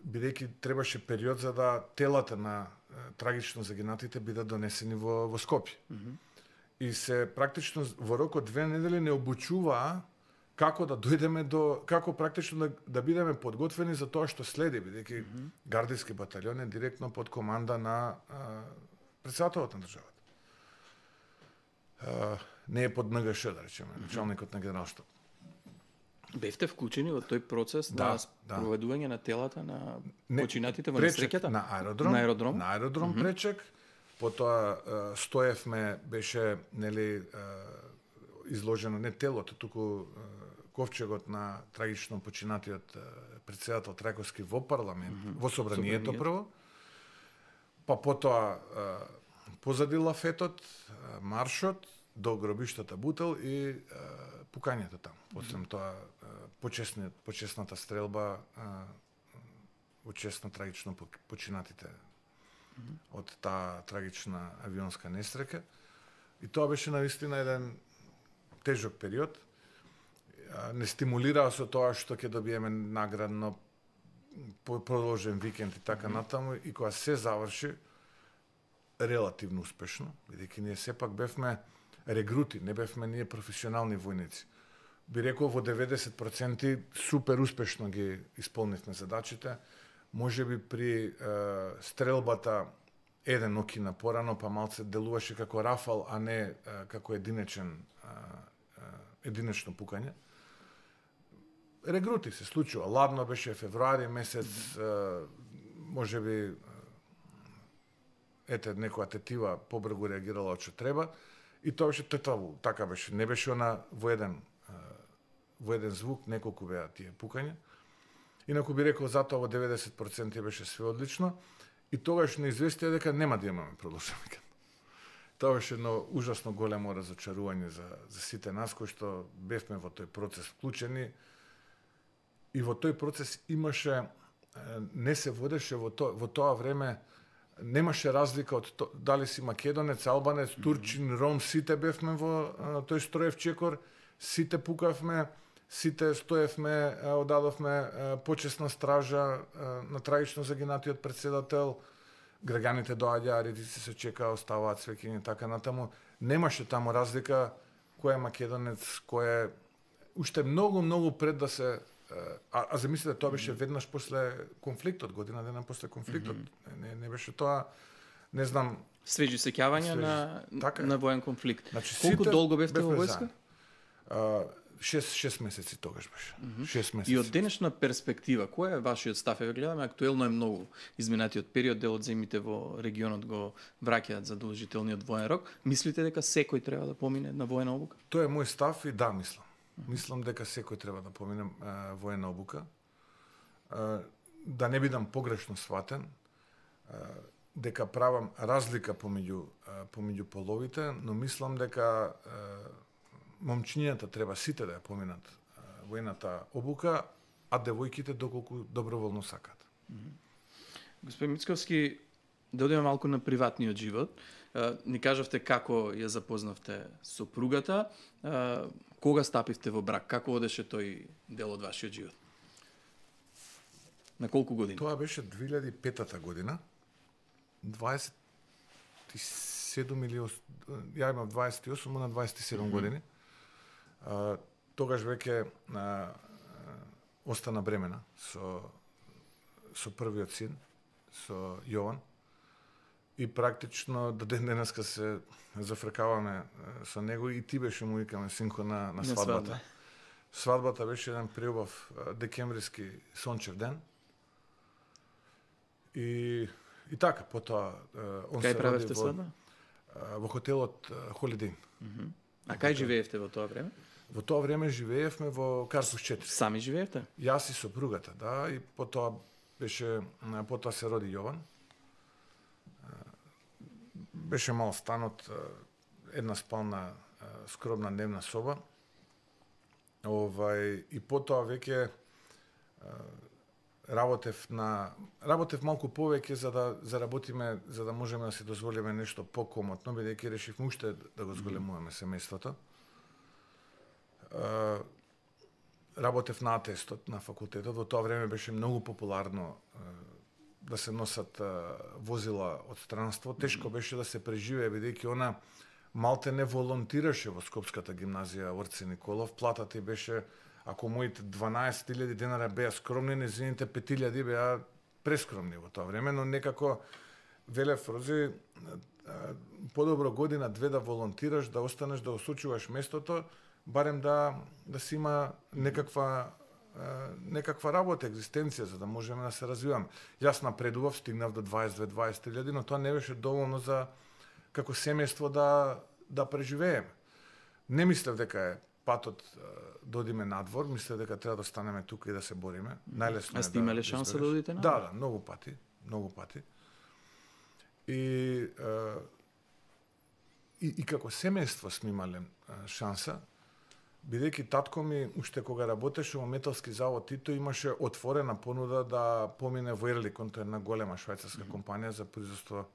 [SPEAKER 1] бидејќи требаше период за да телата на трагично загинатите бидат донесени во Скопје. И се практично во рок од 2 недели не обучуваа како да дојдеме како практично да бидеме подготвени за тоа што следи, бидејќи гардиски батальон е директно под команда на претседателот на државата. Не е под НГШ, да речеме, началникот на генералштаб.
[SPEAKER 2] Бевте вклучени во тој процес на спроведување на телата на починатите во несреќата?
[SPEAKER 1] На аеродром пречек. Потоа Стоевме беше изложено не телото, туку ковчегот на трагично починатиот председател Трајковски во парламент, во собранието прво. Па потоа позади лафетот, маршот до гробиштата Бутел и пукањето таму. После тоа почесната стрелба во чест на трагично починатите од таа трагична авионска несреќа. И тоа беше навистина еден тежок период. Не стимулираа со тоа што ќе добиеме наградно продолжен викенд и така натаму, и кога се заврши релативно успешно, бидејќи ние сепак бевме регрути, не бевме ние професионални војници. Би рекол во 90% супер успешно ги исполнивме задачите. Можеби при стрелбата еден окина порано, па малце делуваше како рафал, а не како единечно пукање. Регрути се случува. Ладно беше февруари месец, можеби некоја тетива побргу реагирала од што треба, и тоа беше тетаву, така беше. Не беше она во еден звук, неколку беа тие пукања. Инаку би рекол, затоа во 90% беше све одлично, и тогаш не известија дека нема да имаме продолжен викенд. Тоа беше едно ужасно големо разочарување за сите нас кои што бевме во тој процес вклучени, и во тој процес имаше, не се водеше во тоа време, немаше разлика од дали си македонец, албанец, турчин, ром, сите бевме во тој строев чекор, сите пукавме, сите стоевме, одадовме почесна стража на трагично загинатиот председател, граѓаните доаѓаа, редици се чекаа, оставаат свеќени, така натаму. Немаше таму разлика кој е македонец, кој е уште многу пред да се а замислете, тоа беше веднаш после конфликтот, година дена после конфликтот. Не беше тоа, не знам,
[SPEAKER 2] свежи сеќавања на воен конфликт.
[SPEAKER 1] Значи,
[SPEAKER 2] колку долго бевте во војска?
[SPEAKER 1] 6 месеци тогаш беше. 6 месеци.
[SPEAKER 2] И од денешна перспектива, кој е вашиот став? Еве гледаме, актуелно е многу изминатиот период, дел од земјите во регионот го враќаат задолжителниот воен рок. Мислите дека секој треба да помине на воена обука?
[SPEAKER 1] Тоа е мој став и да, мислам. Мислам дека секој треба да помине воена обука. Да не бидам погрешно сватен, дека правам разлика помеѓу половите, но мислам дека момчињата треба сите да ја поминат воената обука, а девојките доколку доброволно сакат.
[SPEAKER 2] Господин Мицковски, да одиме малку на приватниот живот. Ни кажавте како ја запознавте сопругата, кога стапивте во брак, како одеше тој дел од вашиот живот? На колку години?
[SPEAKER 1] Тоа беше 2005 година. 27 или ја имам 28, на 27 години. Тогаш веќе остана бремена со првиот син, со Јован. И практично до ден денеска се зафркаваме со него и ти беше му викаме синко на свадбата. Свадбата беше еден преубав декемвриски сончев ден. И така, потоа он
[SPEAKER 2] кај
[SPEAKER 1] се
[SPEAKER 2] правевте
[SPEAKER 1] роди
[SPEAKER 2] свадба?
[SPEAKER 1] Во хотелот Холидин.
[SPEAKER 2] А кај живеевте во тоа време?
[SPEAKER 1] Во тоа време живеевме во Карпус 4.
[SPEAKER 2] Сами живеевте?
[SPEAKER 1] Јас и сопругата, да, и потоа се роди Јован. Беше мал станот, една спална, скромна дневна соба. И потоа веќе работев малку повеќе за да заработиме, за да можеме да се дозволиме нешто покомотно, бидејќи решивме уште да го зголемуваме семејството. Работев на атестот на факултетот. Во тоа време беше многу популарно да се носат возила од странство. Тешко беше да се преживее, бидејќи она малте не волонтираше во Скопската гимназија Орце Николов. Платата беше, ако моите 12.000 денари беа скромни, незините 5.000 беа прескромни во тоа време, но некако велев Рози, подобро година, две да волонтираш, да останеш, да осучуваш местото, барем да си има некаква работа, екзистенција, за да можеме да се развиваме. Јас напредував, стигнав до 22-23.000, но тоа не беше доволно за како семејство да преживееме. Не мислев дека е патот да одиме надвор, мислев дека треба да останеме тука и да се бориме. Најлесно е.
[SPEAKER 2] А сте имале шанса да одите надвор?
[SPEAKER 1] Да, многу пати. И како семејство сме имале шанса, бидејќи татко ми, уште кога работеше во металски завод Тито, имаше отворена понуда да помине во Ерликон, тоа е една голема швајцарска компанија за производство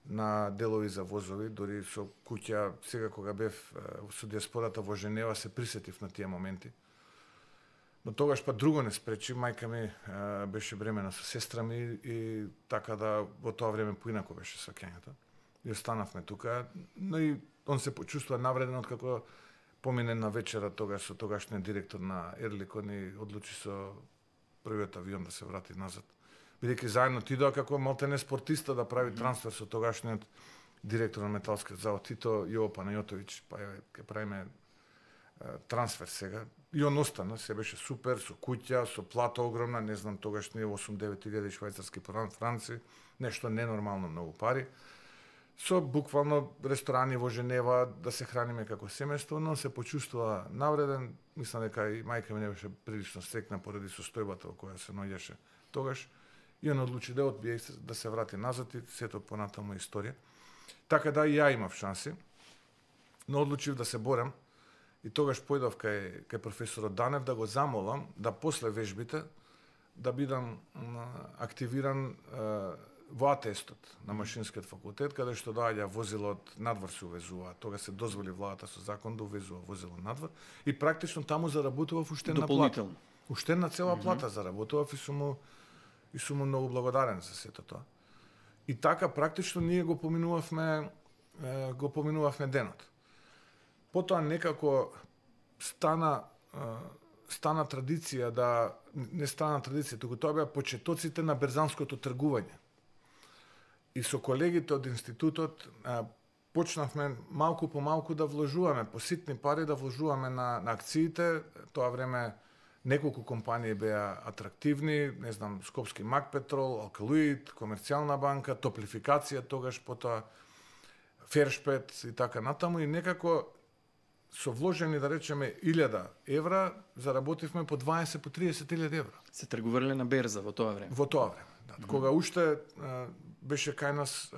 [SPEAKER 1] на делови за возови, дори со куќа, сега кога бев со диаспората во Женева, се присетив на тие моменти. Но тогаш па друго не спречи, мајка ми беше бремена со сестра ми и така да во тоа време поинако беше сваќањето. И останавме тука, но и он се почувствува навреден откако помине на вечера тогаш со тогашниот директор на Ерликон и одлучи со првиот авион да се врати назад. Бидејќи заедно тидоа како малтене спортиста да прави трансфер со тогашниот директор на металскиот завод Тито, Јово Панајотовиќ, па ќе правиме трансфер сега. И он остана, се беше супер, со куќа, со плата огромна, не знам, тогаш не 8-9 илјади швајцарски франци, нешто ненормално многу пари. Со буквално ресторани во Женева, да се храниме како семејство, но се почувствува навреден. Мислам дека и мајка ми не беше прилично стрекна поради состојбата во која се наоѓаше тогаш. И он одлучи да одбие да се врати назад и сето понатаму историја. Така да и ја имав шанси, но одлучив да се борам. И тогаш појдов кај професорот Данев да го замолам да после вежбите да бидам активиран во атестот на машинскиот факултет, каде што доаѓа возило од надвор се увезува. Тога се дозволи владата со закон да увезува возило надвор и практично таму заработував уштенна плата. Уштенна цела плата заработував и сум му многу благодарен за сето тоа. И така практично ние го поминувавме денот. Потоа некако стана традиција да не стана традиција, туку тоа беа почетоците на берзанското тргување. И со колегите од институтот почнавме малку по малку да вложуваме по ситни пари да вложуваме на акциите. Тоа време неколку компании беа атрактивни, не знам, Скопски Макпетрол, Алкалоид, Комерцијална банка, Топлификација тогаш, потоа Фершпет и така натаму и некако со вложени, да речеме, 1000 евра, заработивме по 20, по 30.000 евра.
[SPEAKER 2] Се тргувале на берза во тоа време?
[SPEAKER 1] Во тоа време, да. Кога уште беше кај нас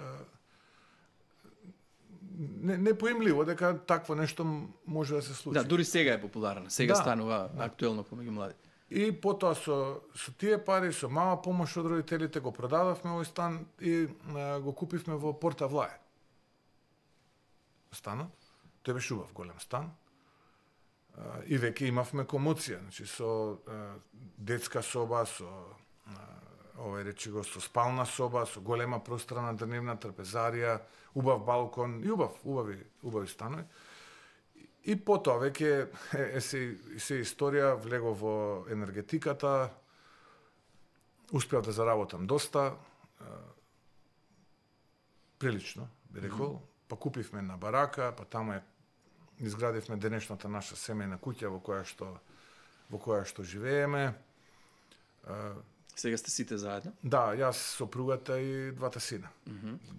[SPEAKER 1] непоимливо дека такво нешто може да се случи.
[SPEAKER 2] Да, дури сега е популарно. Сега станува актуелно помеѓу младите.
[SPEAKER 1] И потоа со тие пари, со мала помош од родителите, го продадовме овој стан и го купивме во Порта Влае. Станот. Тој беше убав голем стан. И веќе имавме комоција, значи со детска соба, со со спална соба, со голема просторна дрневна трпезарија, убав балкон и убави станови. И потоа веќе се историја влего во енергетиката, успеав да заработам доста, прилично, би рекол, па купивме на барака, па таму изградивме денешната наша семејна куќа во која што живееме.
[SPEAKER 2] Сега сте сите заедно?
[SPEAKER 1] Да, јас, сопругата и двата сина.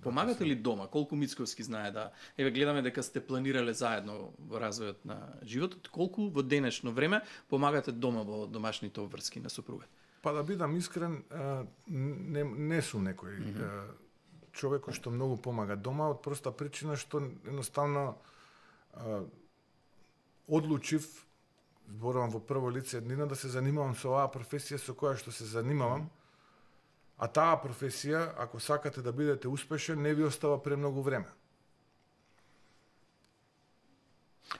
[SPEAKER 2] Помагате ли дома? Колку Мицковски знае да... Еве, гледаме дека сте планирале заедно во развојот на животот. Колку во денешно време помагате дома во домашните обврски на сопругата?
[SPEAKER 1] Па да бидам искрен, не сум некој човек кој што многу помага дома, од проста причина што едноставно одлучив, зборувам во прво лице еднина, да се занимавам со оваа професија со која што се занимавам, а таа професија, ако сакате да бидете успешен, не ви остава премногу време.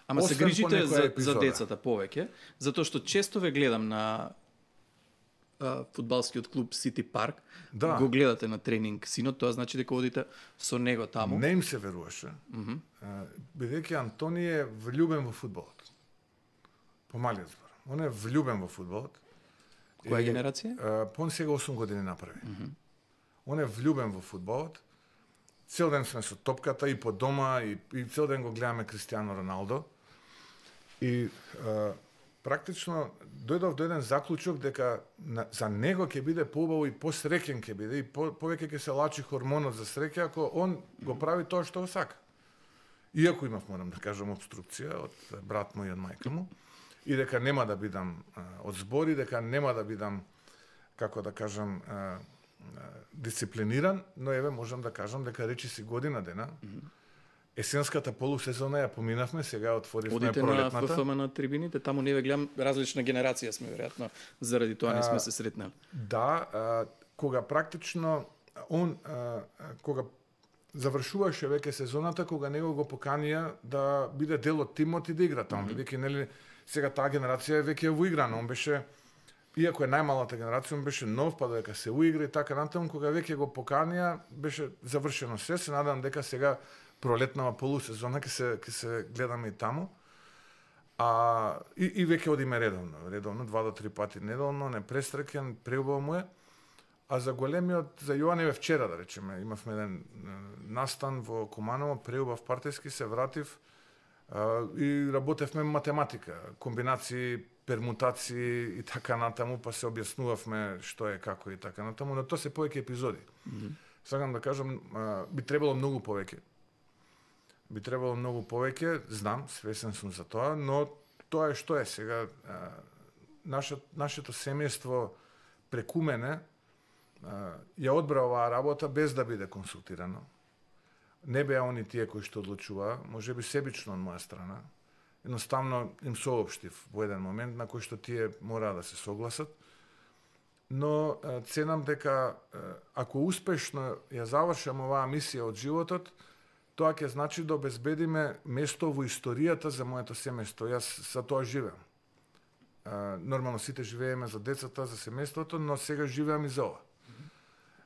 [SPEAKER 2] Ама се грижите за децата повеќе, затоа што често ве гледам на фудбалскиот клуб Сити Парк, го гледате на тренинг синот, тоа значи дека одите со него таму.
[SPEAKER 1] Не им се веруваше, бидејќи Антони е влюбен во фудбалот. По малиот збор. Он е влюбен во фудбалот.
[SPEAKER 2] Која генерација?
[SPEAKER 1] Он сега 8 години направи. Он е влюбен во фудбалот. Цел ден сме со топката и по дома и цел ден го гледаме Кристијано Роналдо. И практично дојдов до еден заклучок дека за него ќе биде поубаво и посреќен ќе биде и повеќе ќе се лачи хормонот за среќа ако он го прави тоа што го сака. Иако имав, морам да кажам, обструкција од брат мој и од мајка му, и дека нема да бидам од збори, дека нема да бидам, како да кажам, дисциплиниран, но еве можам да кажам дека речиси година дена, есенската полусезона ја поминавме, сега отворивме пролетната.
[SPEAKER 2] Одите на ФФМ на трибините, таму не ве гледам, различна генерација сме, веројатно, заради тоа не сме се сретнали.
[SPEAKER 1] Да, кога практично кога завршуваше веќе сезоната, кога него го поканија да биде дел од тимот и да игра таму, бидејќи нели сега таа генерација е веќе уиграна, он беше, иако е најмалата генерација, он беше нов, па дека се уигра и така натаму, кога веќе го поканија, беше завршено се, се надам дека сега пролетнава полусезона ќе се гледаме и таму. И веќе одиме редовно, 2 до 3 пати неделно, непрестрекен, преубаво му е. А за големиот, за Јоан вчера, да речеме, имавме еден настан во Куманово, преубав партиски, се вратив и работевме математика, комбинации, пермутации и така натаму, па се објаснувавме што е, како и така натаму, но тоа се повеќе епизоди. Сакам да кажам, би требало многу повеќе. Знам, свесен сум за тоа, но тоа е што е сега. Нашето семејство преку мене ја одбра оваа работа без да биде консултирано. Не беа они тие кои што одлучуваа, можеби себично од моја страна. Едноставно им соопштив во еден момент на кој што тие мораа да се согласат. но ценам дека ако успешно ја завршам оваа мисија од животот, тоа ќе значи да обезбедиме место во историјата за моето семејство. Јас за тоа живеам. Нормално сите живееме за децата, за семејството, но сега живеам и за ова.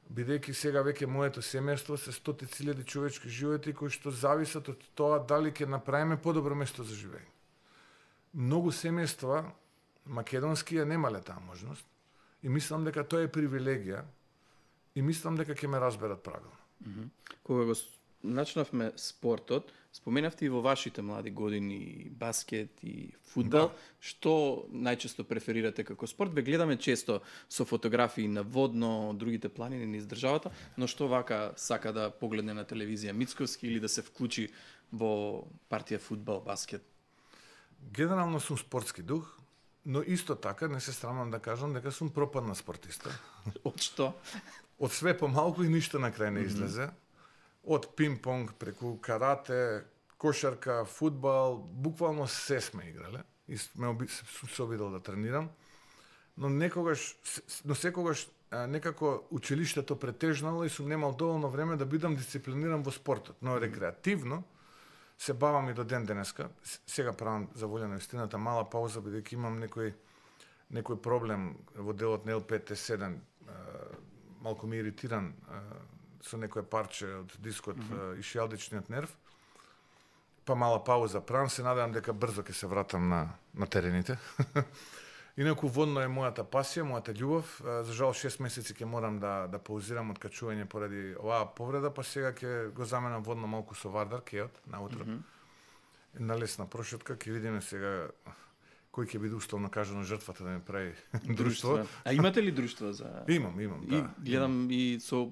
[SPEAKER 1] Бидејќи сега веќе моето семејство се стотици илјади човечки животи кои што зависат од тоа дали ќе направиме подобро место за живење. Многу семејства македонски ја немале таа можност и мислам дека тоа е привилегија и мислам дека ќе ме разберат правилно.
[SPEAKER 2] Кога го начнавме спортот, споменавте и во вашите млади години баскет и фудбал, што најчесто преферирате како спорт? Ве гледаме често со фотографии на водно, другите планини низ државата, но што вака сака да погледне на телевизија Мицковски или да се вклучи во партија фудбал, баскет?
[SPEAKER 1] Генерално сум спортски дух, но исто така не се срамам да кажам дека сум пропадна спортиста.
[SPEAKER 2] Од што?
[SPEAKER 1] Од све помалку и ништо на крај не излезе. Од пинг-понг преку карате, кошарка, фудбал, буквално се сме играле и се обидел да тренирам, но секогаш некако училиштето претежнало и сум немал доволно време да бидам дисциплиниран во спортот, но рекреативно се бавам и до ден денеска. Сега правам за волја на истината мала пауза бидејќи имам некој проблем во делот на L5-T7, малку ми иритиран со некое парче од дискот и шијалдичниот нерв. Па мала пауза правам, се надевам дека брзо ќе се вратам на терените. Инаку водно е мојата пасија, мојата љубов. За жал 6 месеци ќе морам да паузирам од качување поради оваа повреда, па сега ќе го заменам водно малку со вардар, кеот, наутро. На лесна прошетка, ќе видиме сега кој ќе биде условно кажано жртвата да ми прави друштво.
[SPEAKER 2] А имате ли друштво за...
[SPEAKER 1] Имам, да.
[SPEAKER 2] И гледам и со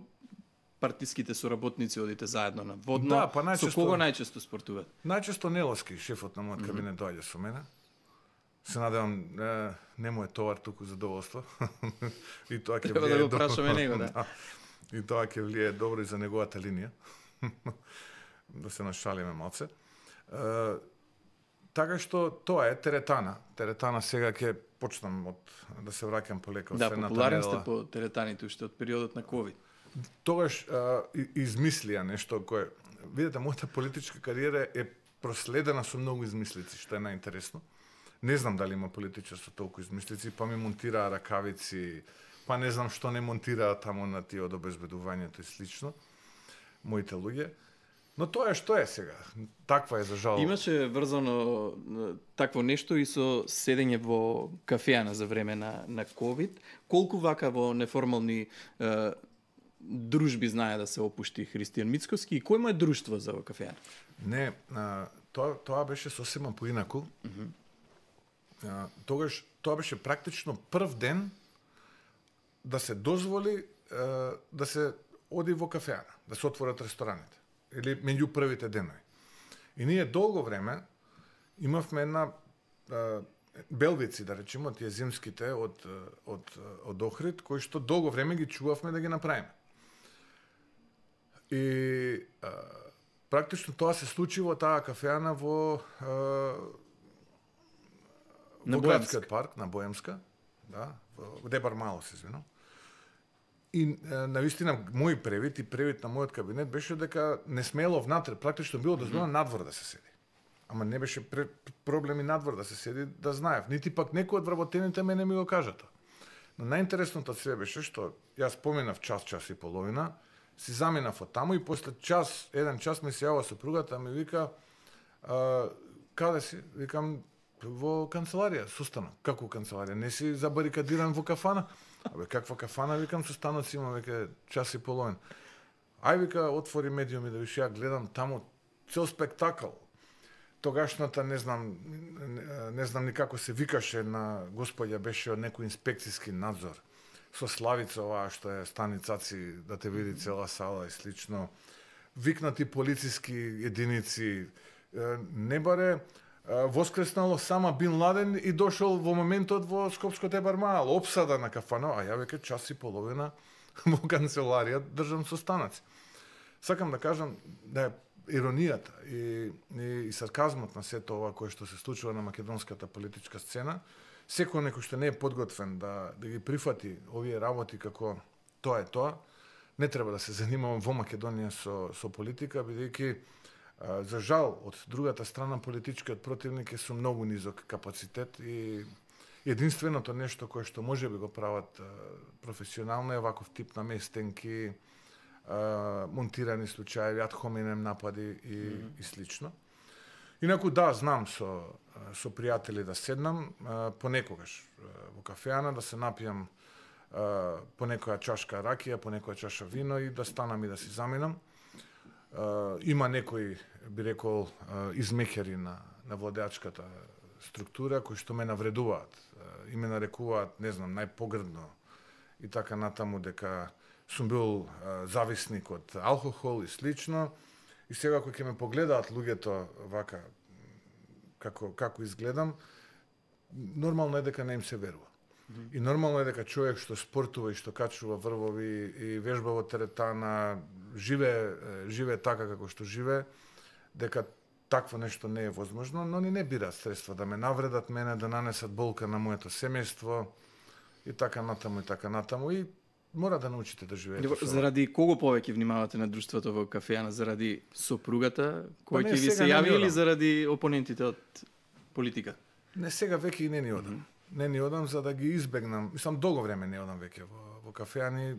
[SPEAKER 2] партиските соработници одите заедно на водно.
[SPEAKER 1] Да, па
[SPEAKER 2] со кого најчесто спортуват?
[SPEAKER 1] Најчесто Неловски, шефот на мојот кабинет, доаѓа со мене. Се надевам, не му е товар туку задоволство. И тоа ќе
[SPEAKER 2] треба да го прашаме него, да.
[SPEAKER 1] И тоа ќе влие добро и за неговата линија. Да се нашалиме малце. Така што тоа е теретана. Теретана сега ќе почнам да се враќам полека од
[SPEAKER 2] средната недела. Да, популарни сте по теретаните уште од периодот на ковид.
[SPEAKER 1] Тогаш измислија нешто кое... Видете, мојата политичка кариера е проследена со многу измислици, што е најинтересно. Не знам дали има политичар со толку измислици, па ми монтираа ракавици, па не знам што не монтираа таму на тие од обезбедувањето и слично. Моите луѓе. Но тоа е што е сега. Таква е за жал.
[SPEAKER 2] Имаше врзано такво нешто и со седење во кафеана за време на ковид. Колку вака во неформални дружби знае да се опушти Христијан Мицковски и кој му е друштво за кафеана?
[SPEAKER 1] Не, тоа беше сосема поинаку. Тогаш тоа беше практично прв ден да се дозволи да се оди во кафеана, да се отворат рестораните. Или меѓу првите денови. И ние долго време имавме една белвици, да речеме, тие зимските од Охрид, кои што долго време ги чувавме да ги направиме. И практично тоа се случи во таа кафеана во градскиот парк на Боемска, да, во Дебар Мало се извинувам. И навистина мој превид и превид на мојот кабинет беше дека не смело внатре, практично било дозволено надвор да се седи. Ама не беше проблем и надвор да се седи, да знаев. Нити пак некој од вработените мене ми го кажата. Но најинтересното од све беше што јас поминав час и половина, си заминав од таму и после еден час ми се јава сопругата, ми вика, каде си? Викам, во канцеларија, состанок. Како канцеларија? Не си забарикадиран во кафана? Абе, каква кафана? Викам, состанок си има веќе час и половина. Ај, вика, отвори медиуми да виш, ја гледам таму цел спектакл. Тогашната, не знам никако се викаше на господја, беше од некој инспекцијски надзор. Со Славица, оваа што е станицаци, да те види цела сала и слично. Викнати полициски единици. Не баре воскреснало сама Бин Ладен и дошол во моментот во Скопско Дебар Мал, опсада на кафано, а ја веќе час и половина во канцеларија држам состанаци. Сакам да кажам да иронијата и сарказмот на сето ова кое што се случува на македонската политичка сцена, секој некој што не е подготвен да ги прифати овие работи како тоа е тоа, не треба да се занимава во Македонија со политика, бидејќи за жал од другата страна политичкиот противник е со многу низок капацитет и единственото нешто кое што може би го прават професионално е ваков тип наместенки, монтирани случаи, ад хоминем напади и слично. Инаку да, знам со пријатели да седнам понекогаш во кафеана, да се напијам по некоја чашка ракија, по некоја чаша вино и да станам и да си заминам. Има некои, би рекол, измекери на владеачката структура кои што ме навредуваат и ме нарекуваат, не знам, најпогрдно и така натаму дека сум бил зависник од алкохол и слично. И сега кои ќе ме погледаат луѓето вака како изгледам, нормално е дека не им се верува. И нормално е дека човек што спортува и што качува врвови и вежба во теретана, живее така како што живее, дека такво нешто не е возможно, но не бираат средства да ме навредат мене, да нанесат болка на моето семејство и така натаму и мора да научите да живеете со.
[SPEAKER 2] Заради кого повеќе внимавате на друштвото во кафеана? Заради сопругата кој ќе ви се јави или заради опонентите од политика?
[SPEAKER 1] Не, сега веќе и не ни одам. Не ни одам за да ги избегнам. Мислам, долго време не одам веќе во кафеани.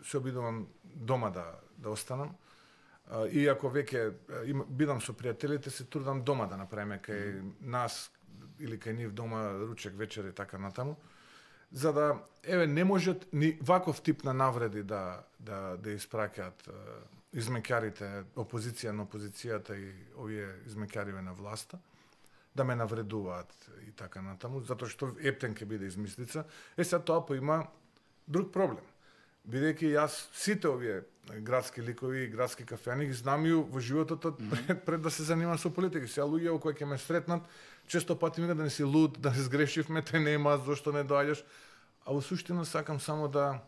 [SPEAKER 1] Се обидувам дома да останам. И ако веќе бидам со пријателите, се трудам дома да направиме кај нас или кај нив дома ручек, вечер и така натаму. За да, не можат ни ваков тип на навреди да испраќаат измекарите, опозиција на опозицијата и овие измекариве на власта, да ме навредуваат и така натаму, затоа што ептен ќе биде измислица. Сега тоа поима друг проблем. Бидејќи јас сите овие градски ликови и градски кафеани ги знам и во животот пред да се занимавам со политика. Сега луѓе кои ќе ме сретнат, често пати ми да не си луд, да не сгрешивме, те нема, зошто не доаѓаш. А во суштина сакам само да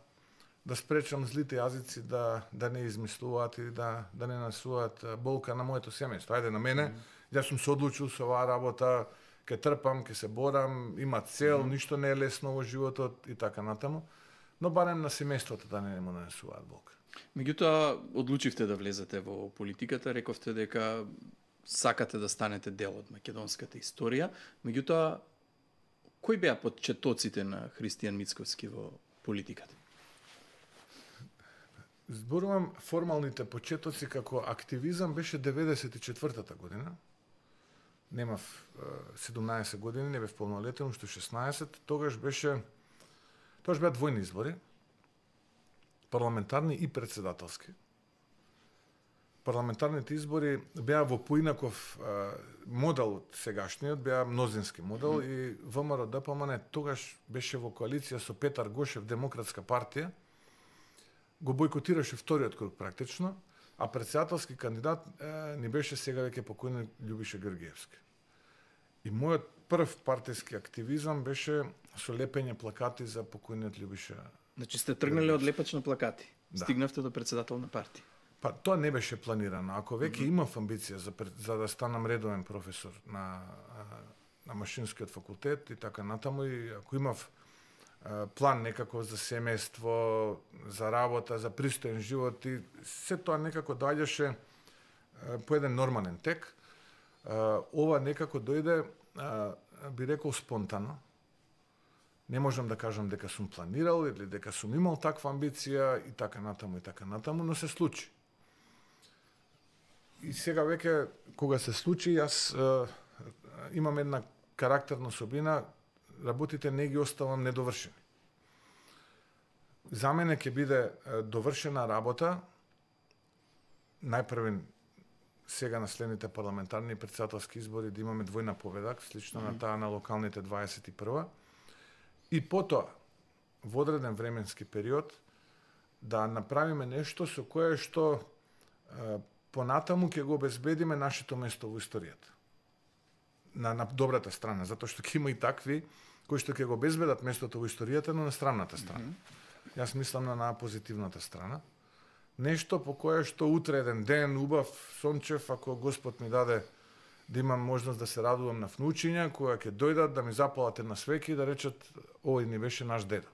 [SPEAKER 1] спречам злите јазици да не измислуваат и да не насуваат болка на моето семејство. Ајде на мене, јас сум се одлучил со оваа работа, ќе трпам, ќе се борам, има цел, ништо не е лесно во животот и така натаму, но барем на семејството да не му нанесуваат болка.
[SPEAKER 2] Меѓутоа, одлучивте да влезете во политиката, рековте дека сакате да станете дел од македонската историја, меѓутоа, кои беа почетоците на Христијан Мицковски во политиката?
[SPEAKER 1] Зборувам формалните почетоци како активизам беше 94-та година. Немав 17 години, не бев полнолетен, уште 16. Тогаш беа двојни избори, парламентарни и председателски. Парламентарните избори беа во поинаков модел од сегашниот, беа мнозински модел и ВМРО ДПМН тогаш беше во коалиција со Петар Гошев, Демократска партија, го бојкотираше вториот круг практично, а председателски кандидат ни беше сега веќе покојниот Љубиша Георгиевски. И мојот прв партиски активизам беше со лепење плакати за покојниот Љубиша.
[SPEAKER 2] Значи сте тргнале од лепач на плакати. Да. Стигнавте до председател на партија.
[SPEAKER 1] Па тоа не беше планирано. Ако веќе имав амбиција за да станам редовен професор на машинскиот факултет и така натаму, и ако имав план некако за семејство, за работа, за пристоен живот и се тоа некако доаѓаше по еден нормален тек. Ова некако дојде, би рекол, спонтано. Не можам да кажам дека сум планирал или дека сум имал таква амбиција и така натаму, но се случи. И сега веќе, кога се случи, јас имам една карактерна особина, работите не ги оставам недовршени. За мене ќе биде довршена работа, најпрвен сега на следните парламентарни и председателски избори да имаме двојна победа, слично на таа на локалните 21-а, и потоа, во одреден временски период, да направиме нешто со кое што понатаму ќе го обезбедиме нашето место во историјата. На добрата страна, затоа што ќе има и такви кои што ќе го обезбедат местото во историјата, но на странната страна. Јас мислам на позитивната страна. Нешто по кое што утре еден ден, убав, сончев, ако Господ ми даде да имам можност да се радувам на внучиња, која ќе дојдат да ми запалат една свеќа и да речат, овој ни беше наш дедо.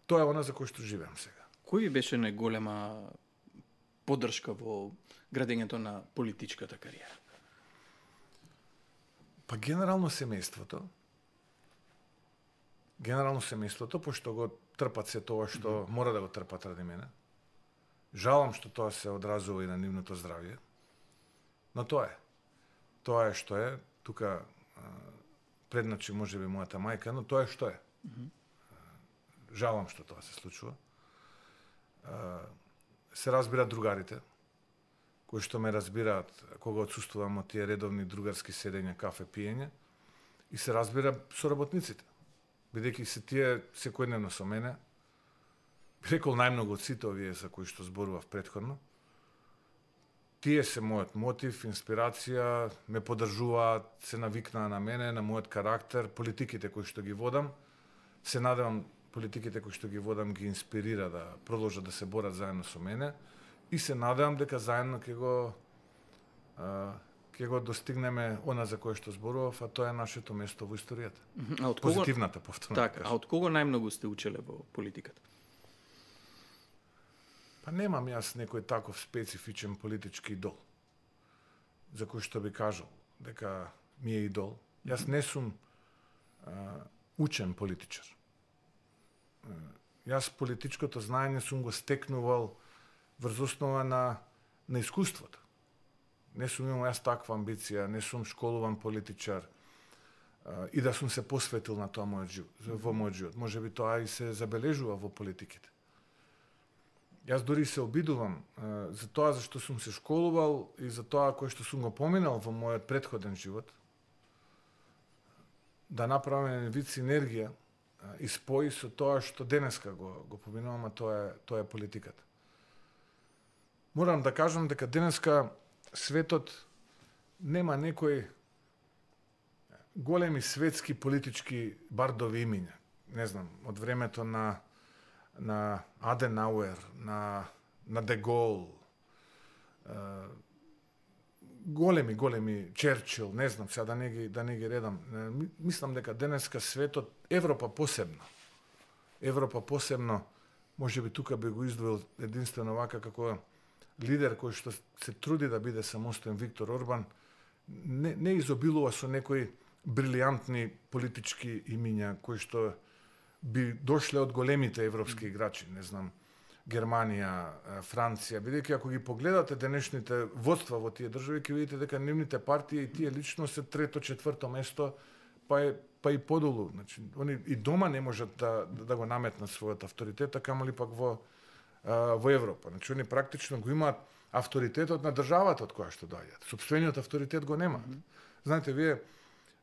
[SPEAKER 1] Тоа е она за кој што живеам сега.
[SPEAKER 2] Кој ви беше најголема поддршка во градењето на политичката кариера?
[SPEAKER 1] Па генерално семејството. Генерално семејството, пошто го трпат се тоа што мора да го трпат ради мене. Жалам што тоа се одразува и на нивното здравје. Но тоа е. Тоа е што е. Тука предначи можеби мојата мајка, но тоа е што е. Жалам што тоа се случува. Се разбираат другарите, кои што ме разбираат кога отсуствувам од тие редовни другарски седења, кафе пиење, и се разбира соработниците. Бидејќи се тие секојдневно со мене, би рекол најмногу од сите овие за кои што зборував претходно, тие се мојот мотив, инспирација, ме поддржуваат, се навикнаа на мене, на мојот карактер, политиките кои што ги водам, се надевам политиките кои што ги водам ги инспирира да продолжат да се борат заедно со мене и се надевам дека заедно ќе го достигнеме она за кое што зборував, а тоа е нашето место во историјата. Позитивната повторно.
[SPEAKER 2] Така, а од кого најмногу сте учеле во политиката?
[SPEAKER 1] Па немам јас некој таков специфичен политички идол, за кој што би кажал дека ми е идол. Јас не сум учен политичар. Јас политичкото знаење сум го стекнувал врз основа на искуството. Не сум имал јас таква амбиција, не сум школуван политичар и да сум се посветил на тоа во мојот живот. Може би тоа и се забележува во политиките. Јас дури се обидувам за тоа за што сум се школувал и за тоа кое што сум го поминал во мојот претходен живот, да направам еден вид синергија и спои со тоа што денеска го поминувам, а тоа е политиката. Морам да кажам дека денеска светот нема некои големи светски политички бардови имиња. Не знам, од времето на Аденауер, на Де Гол, големи Черчил, не знам сега да не ги редам. Мислам дека денеска светот, Европа посебно, можеби тука би го издвоил единствено вака како лидер кој што се труди да биде самостоен, Виктор Орбан, не изобилува со некои брилијантни политички имиња кои што би дошле од големите европски играчи, не знам, Германија, Франција, бидејќи ако ги погледате денешните водства во тие држави, ќе видите дека нивните партии и тие лично се трето, четврто место, па и подолу. Значи, они и дома не можат да го наметнат својот авторитет, а камоли пак во Европа. Значи, они практично го имаат авторитетот на државата од која што доаѓаат. Сопствениот авторитет го немаат. Знаете,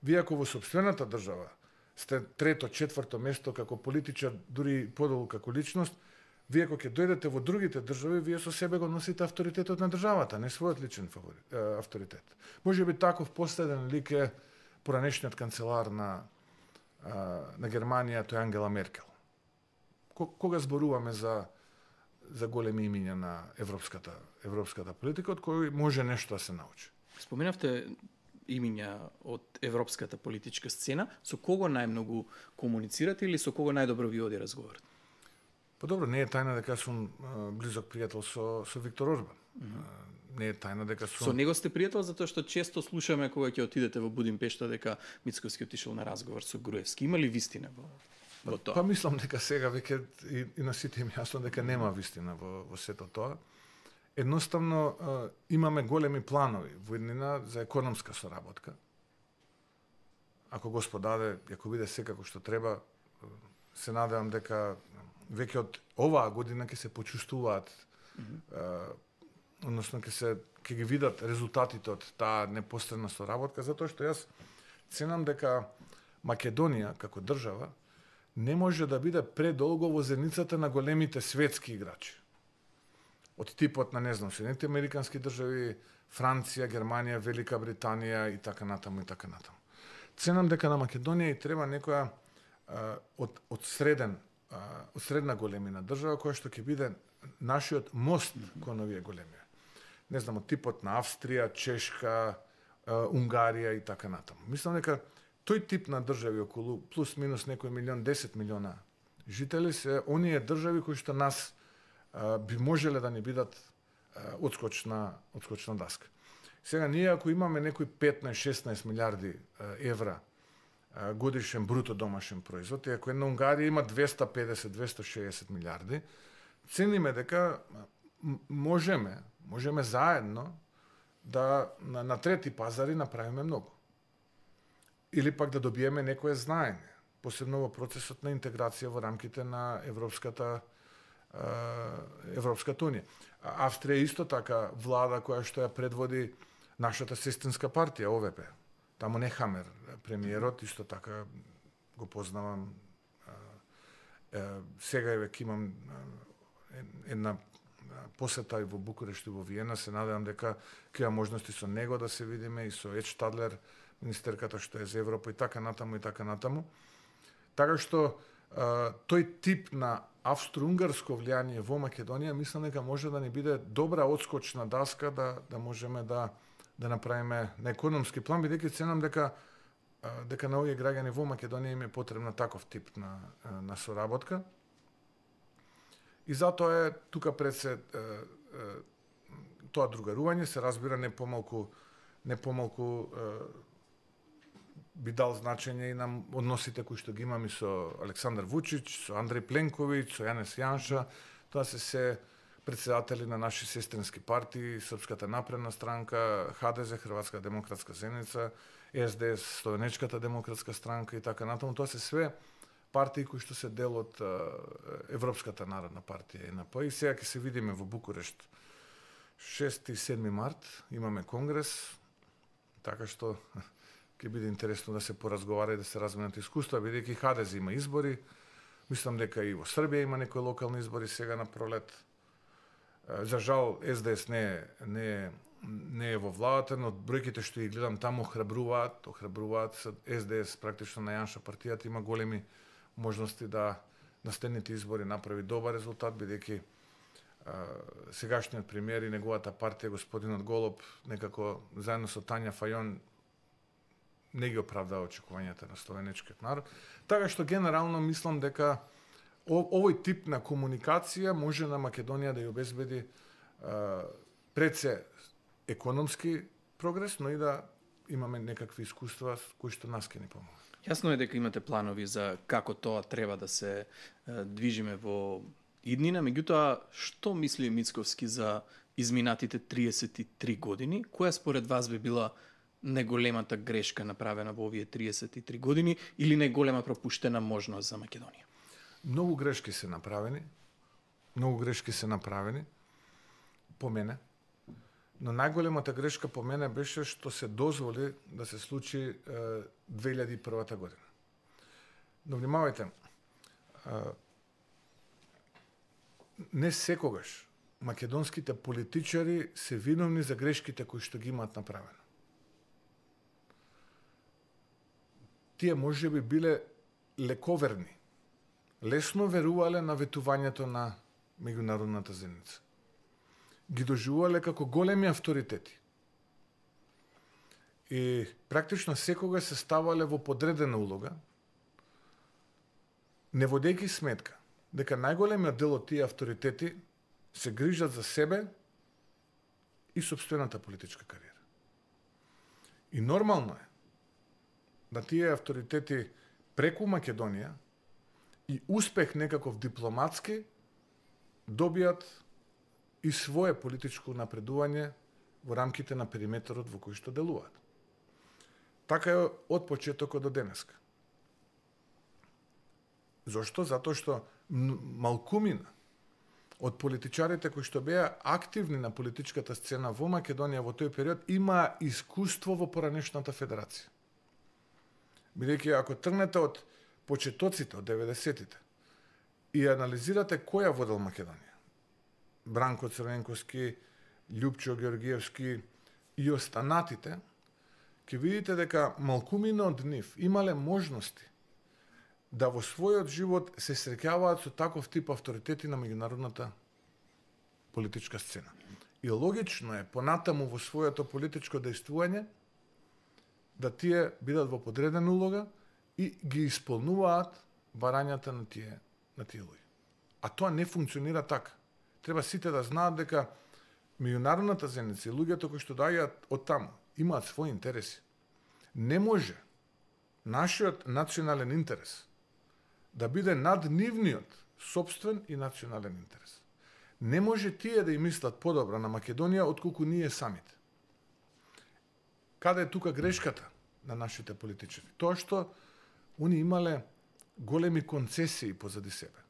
[SPEAKER 1] вие ако во сопствената држава сте трето, четврто место како политичар, дури подолу како личност, вие ако ќе дојдете во другите држави, вие со себе го носите авторитетот на државата, не својот личен авторитет. Може би таков последен лик е поранешниот канцелар на Германија, тој Ангела Меркел. Кога зборуваме за големи имиња на европската политика, од кој може нешто да се научи.
[SPEAKER 2] Споменавте имиња од европската политичка сцена, со кого најмногу комуницирате или со кого најдобро ви оди разговорот?
[SPEAKER 1] Па добро, не е тајна дека сум близок пријател со Виктор Орбан. Не е тајна дека сум...
[SPEAKER 2] Со него сте пријател затоа што често слушаме кога ќе отидете во Будимпешта дека Мицковски отишел на разговор со Груевски. Има ли вистина во тоа?
[SPEAKER 1] Па мислам дека сега веќе и на сите им јасно дека нема вистина во сето тоа. Едноставно имаме големи планови во иднина за економска соработка. Ако Господ даде, ако биде секако што треба, се надевам дека веќе од оваа година ќе се почувствуваат, односно ќе ги видат резултатите од таа непосредна соработка, затоа што јас ценам дека Македонија како држава не може да биде предолго во зеницата на големите светски играчи. Од типот на, не знам, Соединетите Американски држави, Франција, Германија, Велика Британија и така натаму. Ценам дека на Македонија и треба некоја од средна големина држава која што ќе биде нашиот мост кон овие големи. Не знам, типот на Австрија, Чешка, Унгарија и така натаму. Мислам дека тој тип на држави околу плюс минус некој милион, 10 милиона жители се оние држави кои што нас би можеле да ни бидат одскочна даска. Сега ние ако имаме некои 15-16 милиарди евра годишен бруто домашен производ, и ако една Унгарија има 250-260 милиарди, цениме дека можеме заедно да на трети пазари направиме многу. Или пак да добиеме некое знаење, посебно во процесот на интеграција во рамките на Европската унија. Австрија исто така влада која што ја предводи нашата сестринска партија ОВП. Таму Нехамер, премиерот, исто така го познавам. Сега веќе имам една посета и во Букурешт и во Виена. Се надевам дека ќе има можности со него да се видиме и со Ед Штадлер, министерката што е за Европа и така натаму. Така што тој тип на австро-унгарско влијание во Македонија мислам дека може да ни биде добра одскочна даска да можеме да направиме на економски план, бидејќи ценам дека на овие граѓани во Македонија им е потребна таков тип на соработка. И затоа е тука пред се тоа другарување се разбира не помалку би дал значење и на односите кои што ги имаме со Александар Вучич, со Андреј Пленковиќ, со Јанес Јанша. Тоа се председатели на наши сестрински партии, Српската напредна странка, ХДЗ, Хрватска демократска заедница, СДС, Словенечката демократска странка и така натаму. Тоа се све партии кои што се дел од Европската народна партија ЕНП. И сега ќе се видиме во Букурешт 6 и 7 март, имаме конгрес, така што ќе биде интересно да се поразговара и да се разменат искуства, бидејќи ХДЗ има избори. Мислам дека и во Србија има некои локални избори сега на пролет. За жал СДС не е во владата, но бројките што ги гледам таму охрабруваат СДС практично на Јанша партијата има големи можности да на следните избори направи добар резултат, бидејќи сегашниот премиер и неговата партија господинот Голоб некако заедно со Тања Фајон не ги оправдава очекувањата на словенечкиот народ. Така што генерално мислам дека овој тип на комуникација може на Македонија да ја обезбеди пред се економски прогрес, но и да имаме некакви искуства кои што нас ќе ни помогнат.
[SPEAKER 2] Јасно е дека имате планови за како тоа треба да се движиме во иднина, меѓутоа што мисли Мицковски за изминатите 33 години? Која според вас би била најголемата грешка направена во овие 33 години или најголема пропуштена можност за Македонија?
[SPEAKER 1] Многу грешки се направени по мене, но најголемата грешка по мене беше што се дозволи да се случи 2001 година. Но внимавајте, не секогаш македонските политичари се виновни за грешките кои што ги имаат направено. Тие може би биле лековерни, лесно верувале на ветувањето на меѓународната заедница. Ги доживувале како големи авторитети. И практично секога се ставале во подредена улога, не водејќи сметка дека најголемиот дел од тие авторитети се грижат за себе и сопствената политичка кариера. И нормално е да тие авторитети преку Македонија и успех некаков дипломатски добијат и свое политичко напредување во рамките на периметрот во кој што делуваат. Така е од почетокот до денеска. Зошто? Затоа што малкумина од политичарите кои што беа активни на политичката сцена во Македонија во тој период има искуство во поранешната федерација. Бидејќи ако тргнете од почетоците од 90-тите и анализирате кој ја водел Македонија, Бранко Црвенковски, Љупчо Георгиевски и останатите, ќе видите дека малкумина од нив имале можности да во својот живот се среќаваат со таков тип авторитети на меѓународната политичка сцена. И логично е понатаму во своето политичко дејствување да тие бидат во подредена улога и ги исполнуваат барањата на тие луѓе. А тоа не функционира така. Треба сите да знаат дека меѓународната заедница и луѓето кои што доаѓаат од таму имаат своји интереси. Не може нашиот национален интерес да биде над нивниот сопствен и национален интерес. Не може тие да им мислат подобро на Македонија отколку ние самите. Каде е тука грешката на нашите политичари? Тоа што они имале големи концесии позади себе.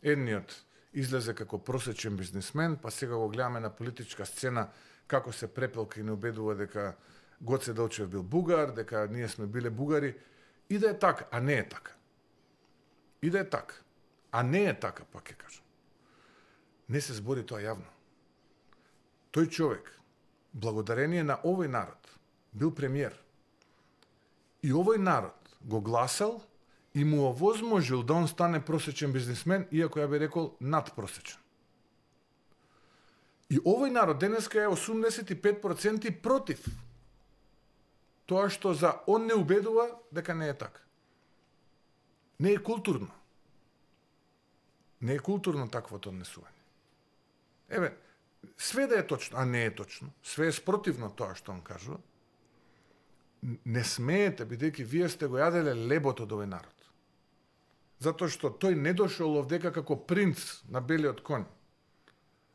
[SPEAKER 1] Едниот излезе како просечен бизнисмен, па сега го гледаме на политичка сцена како се препелка и не убедува дека Гоце Делчев бил бугар, дека ние сме биле бугари. И да е така, а не е така. И да е така, а не е така, пак ќе кажам. Не се збори тоа јавно. Тој човек, благодарение на овој народ, бил премиер. И овој народ го гласал и му овозможил да он стане просечен бизнисмен, иако ја би рекол надпросечен. И овој народ денеска е 85% против тоа што за он не убедува дека не е така. Не е културно. Не е културно таквото однесување. Еве, све да е точно, а не е точно, све е спротивно тоа што он кажува, не смеете, бидејќи вие сте го јаделе лебото од овој народ. Затоа што тој не дошол овдека како принц на белиот конј,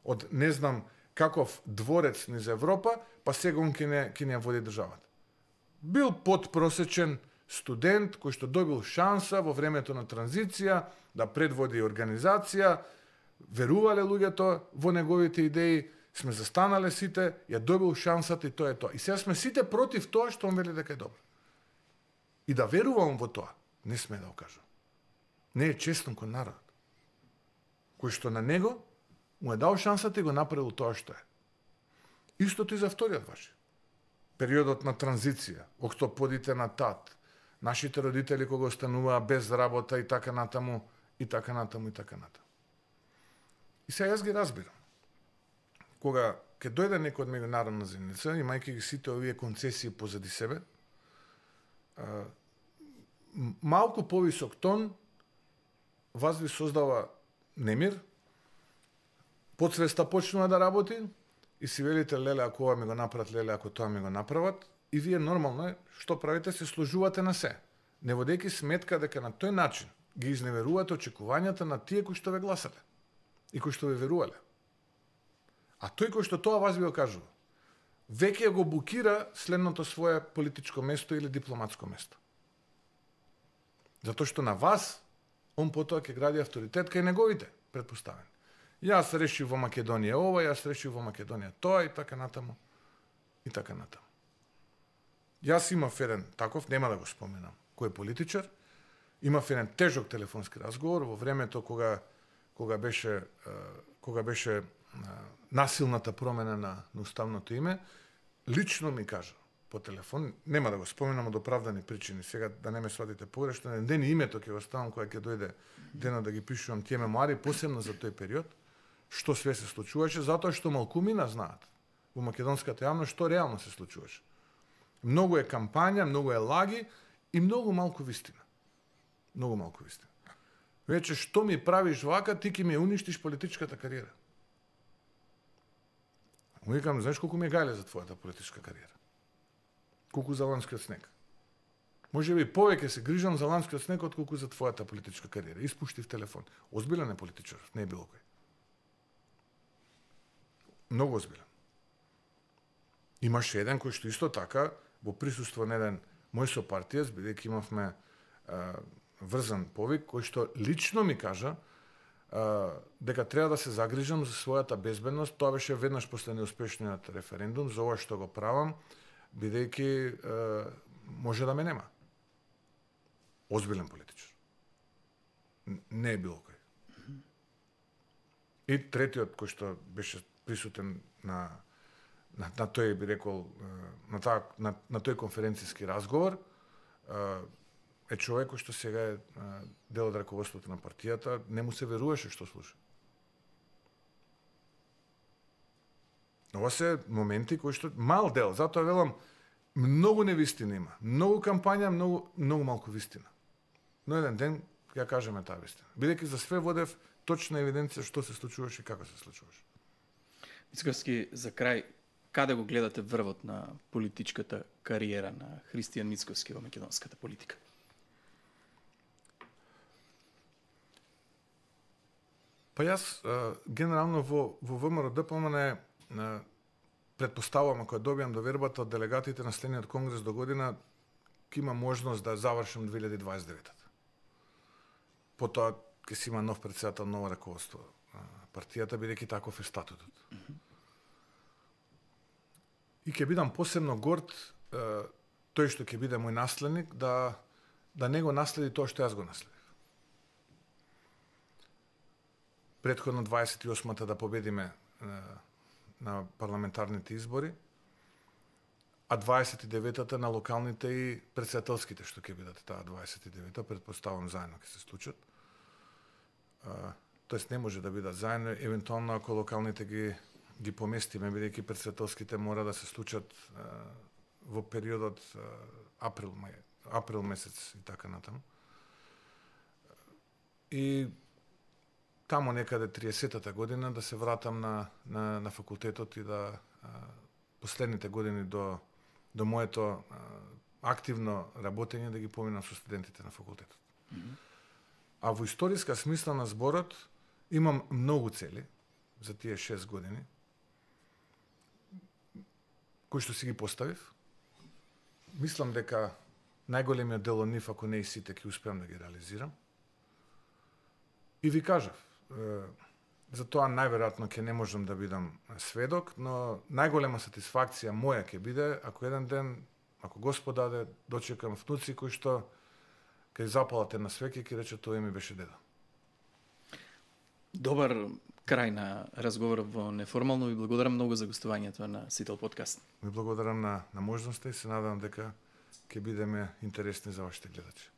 [SPEAKER 1] од не знам каков дворец низ Европа, па сега он ќе не води државата. Бил подпросечен студент кој што добил шанса во времето на транзиција да предводи организација, верувале луѓето во неговите идеи, сме застанале сите, ја добил шансата и тоа е тоа. И сега сме сите против тоа што он вели дека е добро. И да верувам во тоа, не сме да го кажам. Не е честно кон народот, кој што на него му е дал шансата и го направил тоа што е. Истото и за вториот ваши. Периодот на транзиција, октоподите на тат, нашите родители кога остануваа без работа и така натаму, и така натаму, и така натаму. И сега јас ги разбирам. Кога ќе дојде некој од меѓународна заедница, имајќи ги сите овие концесии позади себе, малку повисок тон вас ви создава немир, подсвеста почнува да работи и си велите, леле, ако ова ми го направат, леле, ако тоа ми го направат, и вие нормално е, што правите, се сложувате на се, не водејќи сметка дека на тој начин ги изневерувате очекувањата на тие кои што ве гласале и кои што ве верувале. А тој кој што тоа вас ви го кажува, веќе го букира следното свое политичко место или дипломатско место. Затоа што на вас, он потоа ќе гради авторитет кај неговите предпоставени. Јас решив во Македонија ова, јас решив во Македонија тоа и така натаму. И така натаму. Јас имав еден таков, нема да го споменам, кој е политичар, имав еден тежок телефонски разговор во времето кога беше насилната промена на уставното име, лично ми кажа по телефон, нема да го споменам од оправдани причини, сега да не ме сватите погрешно, еден ден името ќе го ставам кога ќе дојде денот да ги пишувам тие мемуари, посебно за тој период, што све се случуваше, затоа што малкумина знаат во македонската јавност што реално се случуваше. Многу е кампања, многу е лаги и многу малку вистина. Многу малку вистина. Веќе што ми правиш вака, ти ќе ми уништиш политичката кариера. Му викам, знаеш колку ми е гајле за твојата политичка кариера? Колку за ланскиот снег. Може би повеќе се грижам за ланскиот снег отколку за твојата политичка кариера. Испуштив телефон. Озбилен е политичар, не е било кој. Многу озбилен. Имаше еден кој што исто така во присуство на еден мој сопартиец, бидејќи имавме врзан повик, кој што лично ми кажа дека треба да се загрижам за својата безбедност. Тоа беше веднаш после неуспешниот референдум, за ова што го правам, бидејќи може да ме нема. Озбилен политичар. Не е било кој. И третиот кој што беше присутен на тој, би рекол, на тој конференцијски разговор, е човек кој што сега е дел од раководството на партијата, не му се веруваше што слуша. Ова се моменти кои што мал дел, затоа велам многу невистина има, многу кампања, многу малку вистина. Но еден ден ќе ја кажеме таа вистина. Бидејќи за све водев точна евиденција што се случуваше и како се случуваше.
[SPEAKER 2] Мицковски, за крај, каде го гледате врвот на политичката кариера на Христијан Мицковски во македонската политика?
[SPEAKER 1] Па јас генерално во ВМРО ДПМН предпоставувам, ако ја добијам довербата од делегатите на следниот конгрес до година, ќе има можност да завршам 2029. Потоа ќе си има нов претседател, ново раководство партијата, бидејќи таков е статутот. И ќе бидам посебно горд тој што ќе биде мој наследник да не го наследи тоа што јас го наследив. Претходно 28-та да победиме на парламентарните избори, а 29-та на локалните и претседателските што ќе бидат таа 29-та, предпоставам заедно ќе се случат. Тоест не може да бидат заедно, евентуално ако локалните ги поместиме, бидејќи претседателските мора да се случат во периодот април месец и така натаму. И тамо некаде 30-та година да се вратам на факултетот и да последните години до моето активно работење да ги поминам со студентите на факултетот. А во историска смисла на зборот имам многу цели за тие 6 години кои што си ги поставив. Мислам дека најголемиот дел од нив, ако не и сите, ќе успеам да ги реализирам. И ви кажав, за тоа најверојатно ќе не можам да бидам сведок, но најголема сатисфакција моја ќе биде ако еден ден, ако Господ даде, дочекам внуци кои што ќе запалат една свеќа и ќе рече тоа ми беше дедо.
[SPEAKER 2] Добар крај на разговорот во Неформално. Ви благодарам многу за гостувањето на Сител подкаст.
[SPEAKER 1] Ви благодарам на можноста и се надам дека ќе бидеме интересни за вашите гледачи.